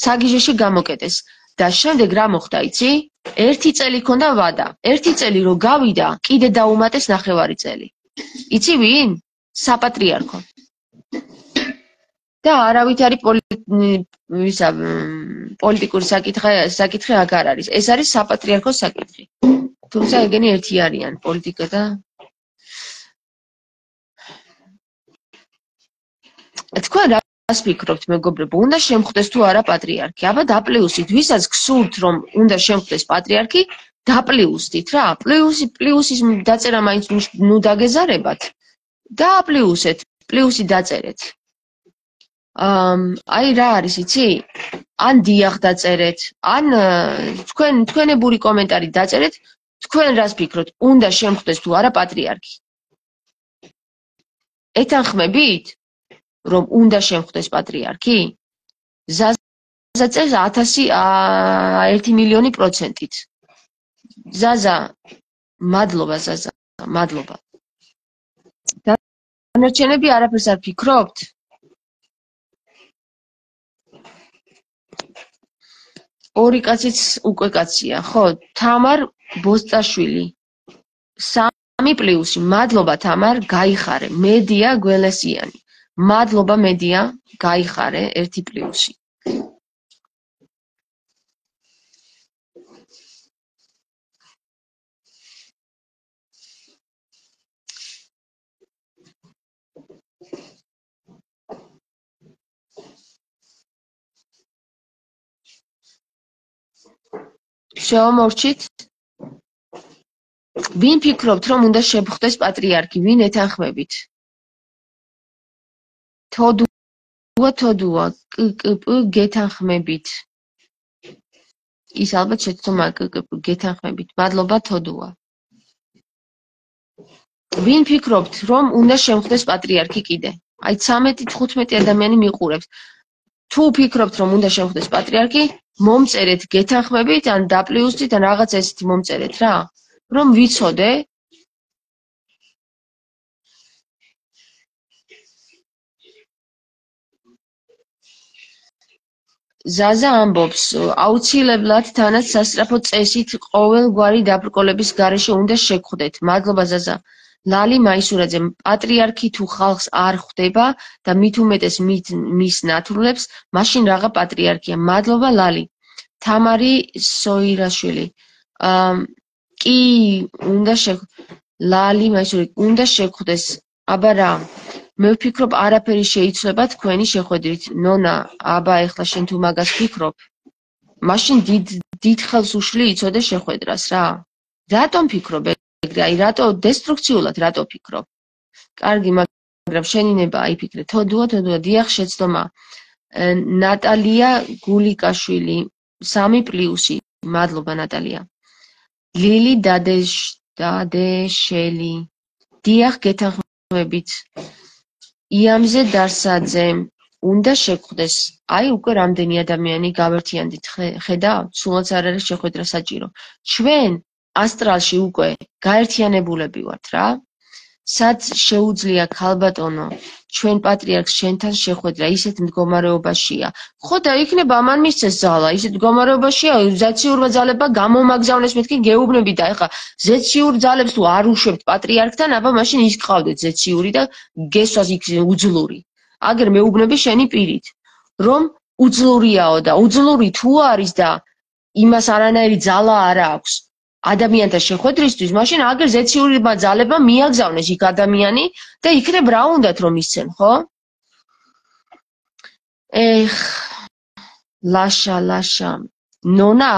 საგიჟეში გამოკეტეს. და შემდეგ რა მოხდა, იცი? ერთი წელი ჰქონდა ვადა. ერთი წელი რო გავიდა, კიდე დაუმატეს ნახევარი წელი. იცი ვინ? საპატრიარქო. და არავითარი პოლიტიკური საკითხი აღარ არის. ეს არის საპატრიარქოს საკითხი. თუმცა ეგენი ერთი არიან, პოლიტიკა და თქვენ რას ფიქრობთ, მეგობრებო, უნდა შემხვდეს თუ არა პატრიარქი? აბა დაპლიუსით, ვისაც გსურთ, რომ უნდა შემხვდეს პატრიარქი, დაპლიუსით რა. პლიუსი პლიუსის დაწერა მაინც ნუ დაგეზარებათ. დააპლიუსეთ, პლიუსი დაწერეთ. აი რა არის, იცი? ან დიახ დაწერეთ, ან თქვენ თქვენებური კომენტარი დაწერეთ, თქვენ რას ფიქრობთ, უნდა შემხვდეს თუ არა პატრიარქი? ეთანხმებით, რომ უნდა შემხვდეს პატრიარქი? ზაზა წერს ათასი ერთი მილიონი პროცენტით. ზაზა, მადლობა ზაზა, მადლობა. დანარჩენები არაფერს არ ფიქრობთ? ორი კაციც უკვე კაცია, ხო? თამარ ბოსტაშვილი. სამი პლუსი. მადლობა თამარ, გაიხარე. მედია გველესიანი. მადლობა მედია, გაიხარე, ერთი პლუსი. შევამორჩით? ვინ ფიქრობთ, რომ უნდა შეხვდეს პატრიარქი? ვინ ეთანხმებით? თოდუა, თოდუა, კკპ გეთანხმებით. ის ალბათ შეცდომა კკპ გეთანხმებით. მადლობა თოდუა. ვინ ფიქრობთ, რომ უნდა შემხვდეს პატრიარქი კიდე? აი ცამეტი თხუთმეტი ადამიანი მიყურებს. თუ ფიქრობთ, რომ უნდა შემხვდეს პატრიარქი, მომწერეთ გეთანხმებით, ან დაპლიუსით, ან რაღაც ესეთი მომწერეთ რა. რომ ვიცოდე. ზაზა ამბობს, აუცილებლად თანაც სასწრაფო წესით ყოველგვარი დაბრკოლების გარეშე უნდა შეგხვდეთ. მადლობა ზაზა. ლალი მაისურაძე, პატრიარქი თუ ხალხს არ ხვდება და მით უმეტეს მის ნათლულებს, მაშინ რაღა პატრიარქია. მადლობა ლალი. თამარი სოირაშვილი. კი, უნდა შეგხვდეს. ლალი მაისურაძე, უნდა შეგხვდეს. აბა რა. მე ვფიქრობ, არაფერი შეიცვლება თქვენი შეხვედრით. ნონა, აბა ეხლა შენ თუ მაგას ფიქრობ, მაშინ დიდ დიდ ხელს უშლი იცოდე შეხვედრას რა. რატომ ფიქრობ ეგრე? აი რატო დესტრუქციულად რატო ფიქრობ? კარგი, მაგრამ შენინება აიფიქრე. თოდუა, თოდუა, დიახ, შეცდომა. ნატალია გულიკაშვილი, სამი პლუსი. მადლობა ნატალია. ლილი დადეშ დადეშელი. დიახ, გეთანხმებით. იამზე დარსაძე, უნდა შეგხვდეს. აი უკვე რამდენი ადამიანი გავერთიანდით, ხედავ? სულაც არ არის შეხვედრა საჭირო. ჩვენ ასტრალში უკვე გაერთიანებულები ვართ რა. სად შეუძლია ქალბატონო ჩვენ პატრიარქს შენთან შეხვედრა, ისეთ მდგომარეობაშია. ხო და იქნება ამან მისცეს ძალა, ისეთ მდგომარეობაშია, ზეციურმა ძალებმა გამომაგზავნეს, მეთქი გეუბნები და ეხლა ზეციურ ძალებს თუ არ უშვებთ პატრიარქთან, აბა მაშინ ის გყავდეთ ზეციური და გესვას იქ უძლური. აგერ მეუბნები შენი პირით, რომ უძლურიაო და უძლური თუ არის და იმას არანაირი ძალა არ აქვს ადამიანთა შეხვედრისთვის, მაშინ აგერ ზეციურმა ძალებმა მიაგზავნეს იქ ადამიანი და იქნებ რა უნდათ რომ ისცენ, ხო? ეხ, ლაშა, ლაშა. ნონა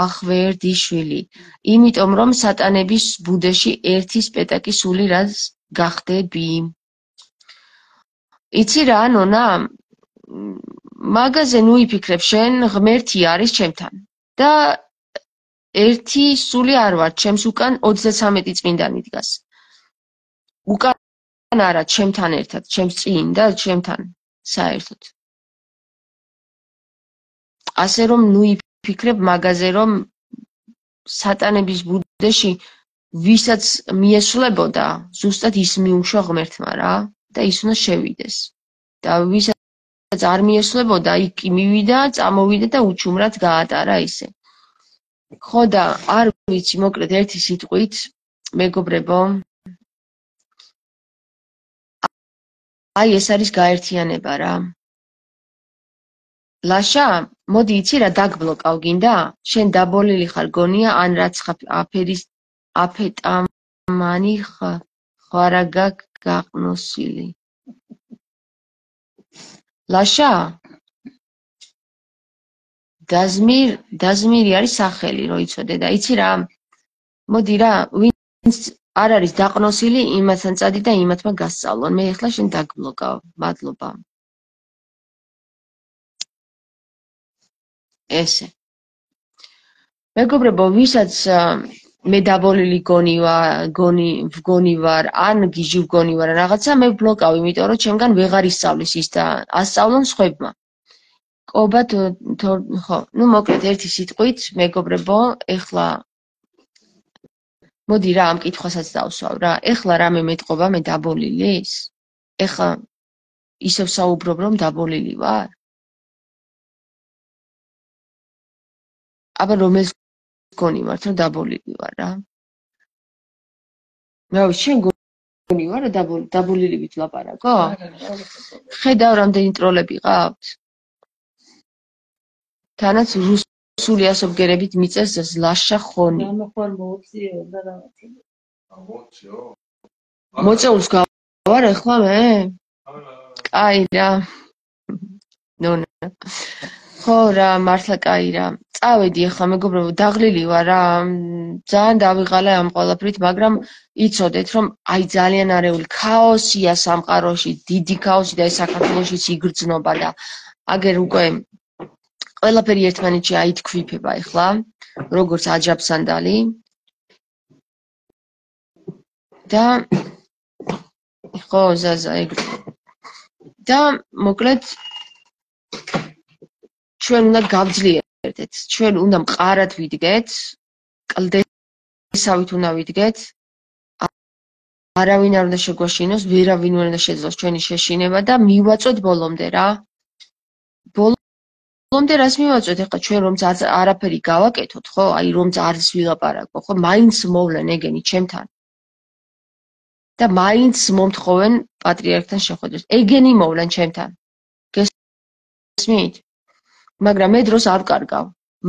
ახვერდიშვილი. იმიტომ რომ სატანების ბუდეში ერთი სპეტაკი სული რაც გახდები. იცი რა, ნონა? მაგაზე ნუ იფიქრებ, შენ ღმერთი არის ჩემთან. და ერთი სული არ ვარ, ჩემს უკან ოცდაცამეტი წმინდანი დგას. უკან არა, ჩემთან ერთად, ჩემს წინ და ჩემთან საერთოდ. ასე რომ ნუ იფიქრებ მაგაზე, რომ სატანების ბუდეში ვისაც მიესვლებოდა, ზუსტად ის მიუშვა ღმერთმა რა და ის უნდა შევიდეს. და ვისაც არ მიესვლებოდა, იქ მივიდა, წამოვიდა და უჩუმრად გაატარა ისე. ხო და არ ვიცი, მოკლედ ერთი სიტყვით, მეგობრებო, აი ეს არის გაერთიანება რა. ლაშა, მოდი იცი რა დაგბლოკავ გინდა? შენ დაბოლილი ხარ გონია, ან რაც აფერის აფეტამანი ხვარაგა გაყნოსილი. ლაშა? დაზმիր, დაზმირი არის სახელი, რო იცოდე და იცი რა? მოდი რა, ვინც არ არის დაყნოსილი, იმათთან წადი და იმათმა გასწავლონ. მე ეხლა შენ დაგბლოკავ. მადლობა. ესე. მეგობრებო, ვისაც მე დაბოლილი გონი გონი ვგონი ვარ, ან გიჟი ვგონი ვარ, რაღაცა მე ვბლოკავ, იმიტომ რომ ჩემგან ვეღარ ისწავლის ის და ასწავლონ სხვებმა. ყობა ხო, ნუ მოკლედ ერთი სიტყვით, მეგობრებო, ეხლა მოდი რა ამ კითხვასაც დავსვავ რა. ეხლა რამე მეტყობა მე დაბოლილის? ეხლა ისევ საუბრობ, რომ დაბოლილი ვარ? აბა რომელს გონი ვართ, რომ დაბოლილი ვარ რა? რა ვიცი, შენ გონი ვარ, რომ დაბოლილი ვით ლაპარაკო? ხედავ რამდენი ტროლები ყავთ? თანაც რუსული ასობგერებით მიწეს ლაშა ხონი. მოწეულს გავარ ეხლა მე? კაი რა. ნონა. ხო რა, მართლა კაი რა. წავედი ეხლა მეგობრებო, დაღლილი ვარ რა. ძალიან დავიღალე ამ ყველაფრით, მაგრამ იცოდეთ, რომ აი ძალიან არეული ქაოსია სამყაროში, დიდი ქაოსი და ეს საქართველოშიც იგრძნობა და აგერ უკვე ყველაფერი ერთმანეთში აითქვიფება ეხლა, როგორც აჯაბსანდალი. და ხო, ზაზა, ეგრე. და მოკლედ ჩვენ უნდა გავძლიერდეთ, ჩვენ უნდა მყარად ვიდგეთ, კლდესავით უნდა ვიდგეთ, არავინ არ უნდა შეგვაშინოს, ვერავინ არ უნდა შეძლოს ჩვენი შეშინება და მივაწვეთ ბოლომდე რა. ბოლომდე რას მივაწვეთ, ეხლა ჩვენ რომ არაფერი გავაკეთოთ, ხო, აი რომ არც ვილაპარაკო, ხო, მაინც მოვლენ ეგენი ჩემთან. და მაინც მომთხოვენ პატრიარქთან შეხვედრას. ეგენი მოვლენ ჩემთან. გესმით? მაგრამ მე დროს არ ვკარგავ.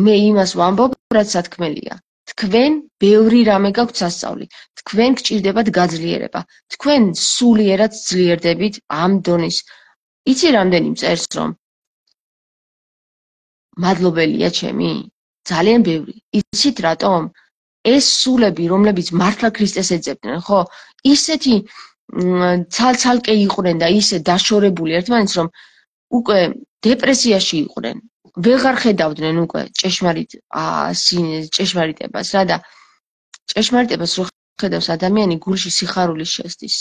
მე იმას ვამბობ, რაც სათქმელია. თქვენ ბევრი რამე გაქვთ სასწავლი. თქვენ გჭირდებათ გაძლიერება. თქვენ სულიერად ძლიერდებით ამ დონის. იცი რამდენი მწერს რომ მადლობელია ჩემი? ძალიან ბევრი. იცით რატომ? ეს სულები, რომლებიც მართლა ქრისტეს ეძებდნენ, ხო? ისეთი ცალ-ცალკე იყვნენ და ისე დაშორებული ერთმანეთს, რომ უკვე დეპრესიაში იყვნენ. ვეღარ ხედავდნენ უკვე ჭეშმარიტ ჭეშმარიტებას რა და ჭეშმარიტებას რო ხედავს ადამიანი გულში სიხარული შესდის.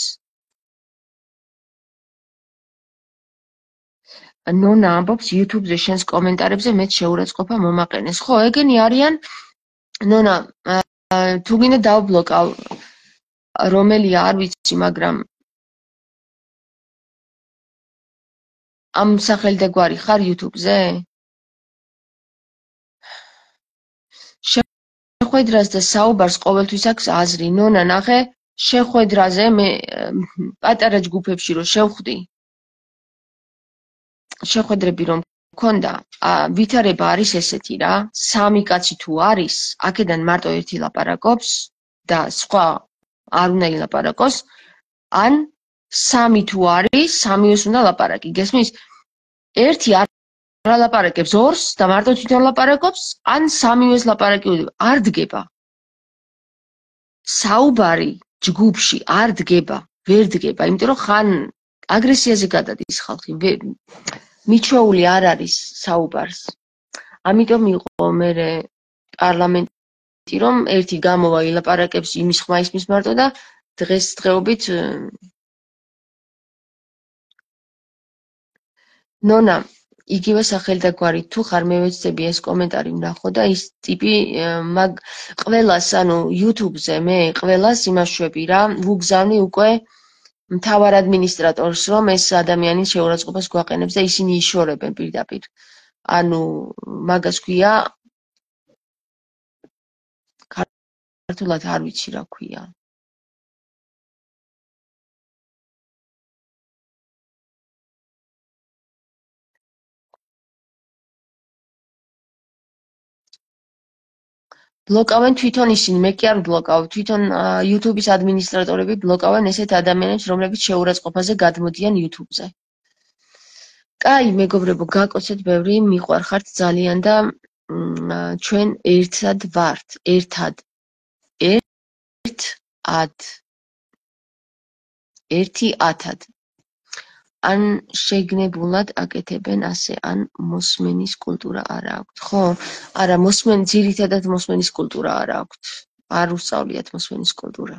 ნონა ამბობს YouTube-ზე შენს კომენტარებზე მეც შეურაცხყოფა მომაყენეს. ხო, ეგენი არიან. ნონა, თუ გინდა დავბლოკავ რომელია არ ვიცი, მაგრამ ამ სახელი და გვარი ხარ YouTube-ზე? შეხვედრას და საუბარს ყოველთვის აქვს აზრი. ნონა, ნახე, შეხვედრაზე მე პატარა ჯგუფებში რო შევხვდი, შეხვედრები რომ მქონდა, ვითარება არის ესეთი რა, სამი კაცი თუ არის, აქედან მარტო ერთი ლაპარაკობს და სხვა არ უნდა ილაპარაკოს, ან სამი თუ არის, სამივეს უნდა ლაპარაკი. გესმის? ერთი არ ლაპარაკებს ორს და მარტო თვითონ ლაპარაკობს, ან სამივეს ლაპარაკი უდება. არ დგება. საუბარი ჯგუფში არ დგება, ვერ დგება, იმიტომ რომ ხან აგრესიაზე გადადის ხალხი. მიჩვეული არ არის საუბარს. ამიტომ იყო მე პარლამენტი რომ ერთი გამოვა ილაპარაკებს იმის ხმა ისმის მარტო და დღეს დღეობით ნონა იგივე სახელი და გვარი თუ ხარ მე ვეცდები ეს კომენტარი ვნახო და ის ტიპი მაგ ყველას ანუ YouTube-ზე მე ყველას იმაშვები რა ვუგზავნი უკვე მთავარ ადმინისტრატორს რომ ეს ადამიანის შეურაცხყოფას გვაყენებს და ისინი იშორებენ პირდაპირ. ანუ მაგას ქვია ქართულად არ ვიცი რა ქვია. ბლოკავენ თვითონ ისინი, მე კი არ ვბლოკავ, თვითონ YouTube-ის ადმინისტრატორები ბლოკავენ ესეთ ადამიანებს, რომლებიც შეურაცხყოფაზე გადმოდიან YouTube-ზე. კაი, მეგობრებო, გაკოცეთ ბევრი, მიყვარხართ ძალიან და ჩვენ ერთად ვართ, ერთად. ერთ-ად. ერთი ათად. ან შეგნებულად აკეთებენ ასე, ან მოსმენის კულტურა არ აქვთ. ხო, არა, მოსმენ, ძირითადად მოსმენის კულტურა არ აქვთ. არ უსწავლიათ მოსმენის კულტურა.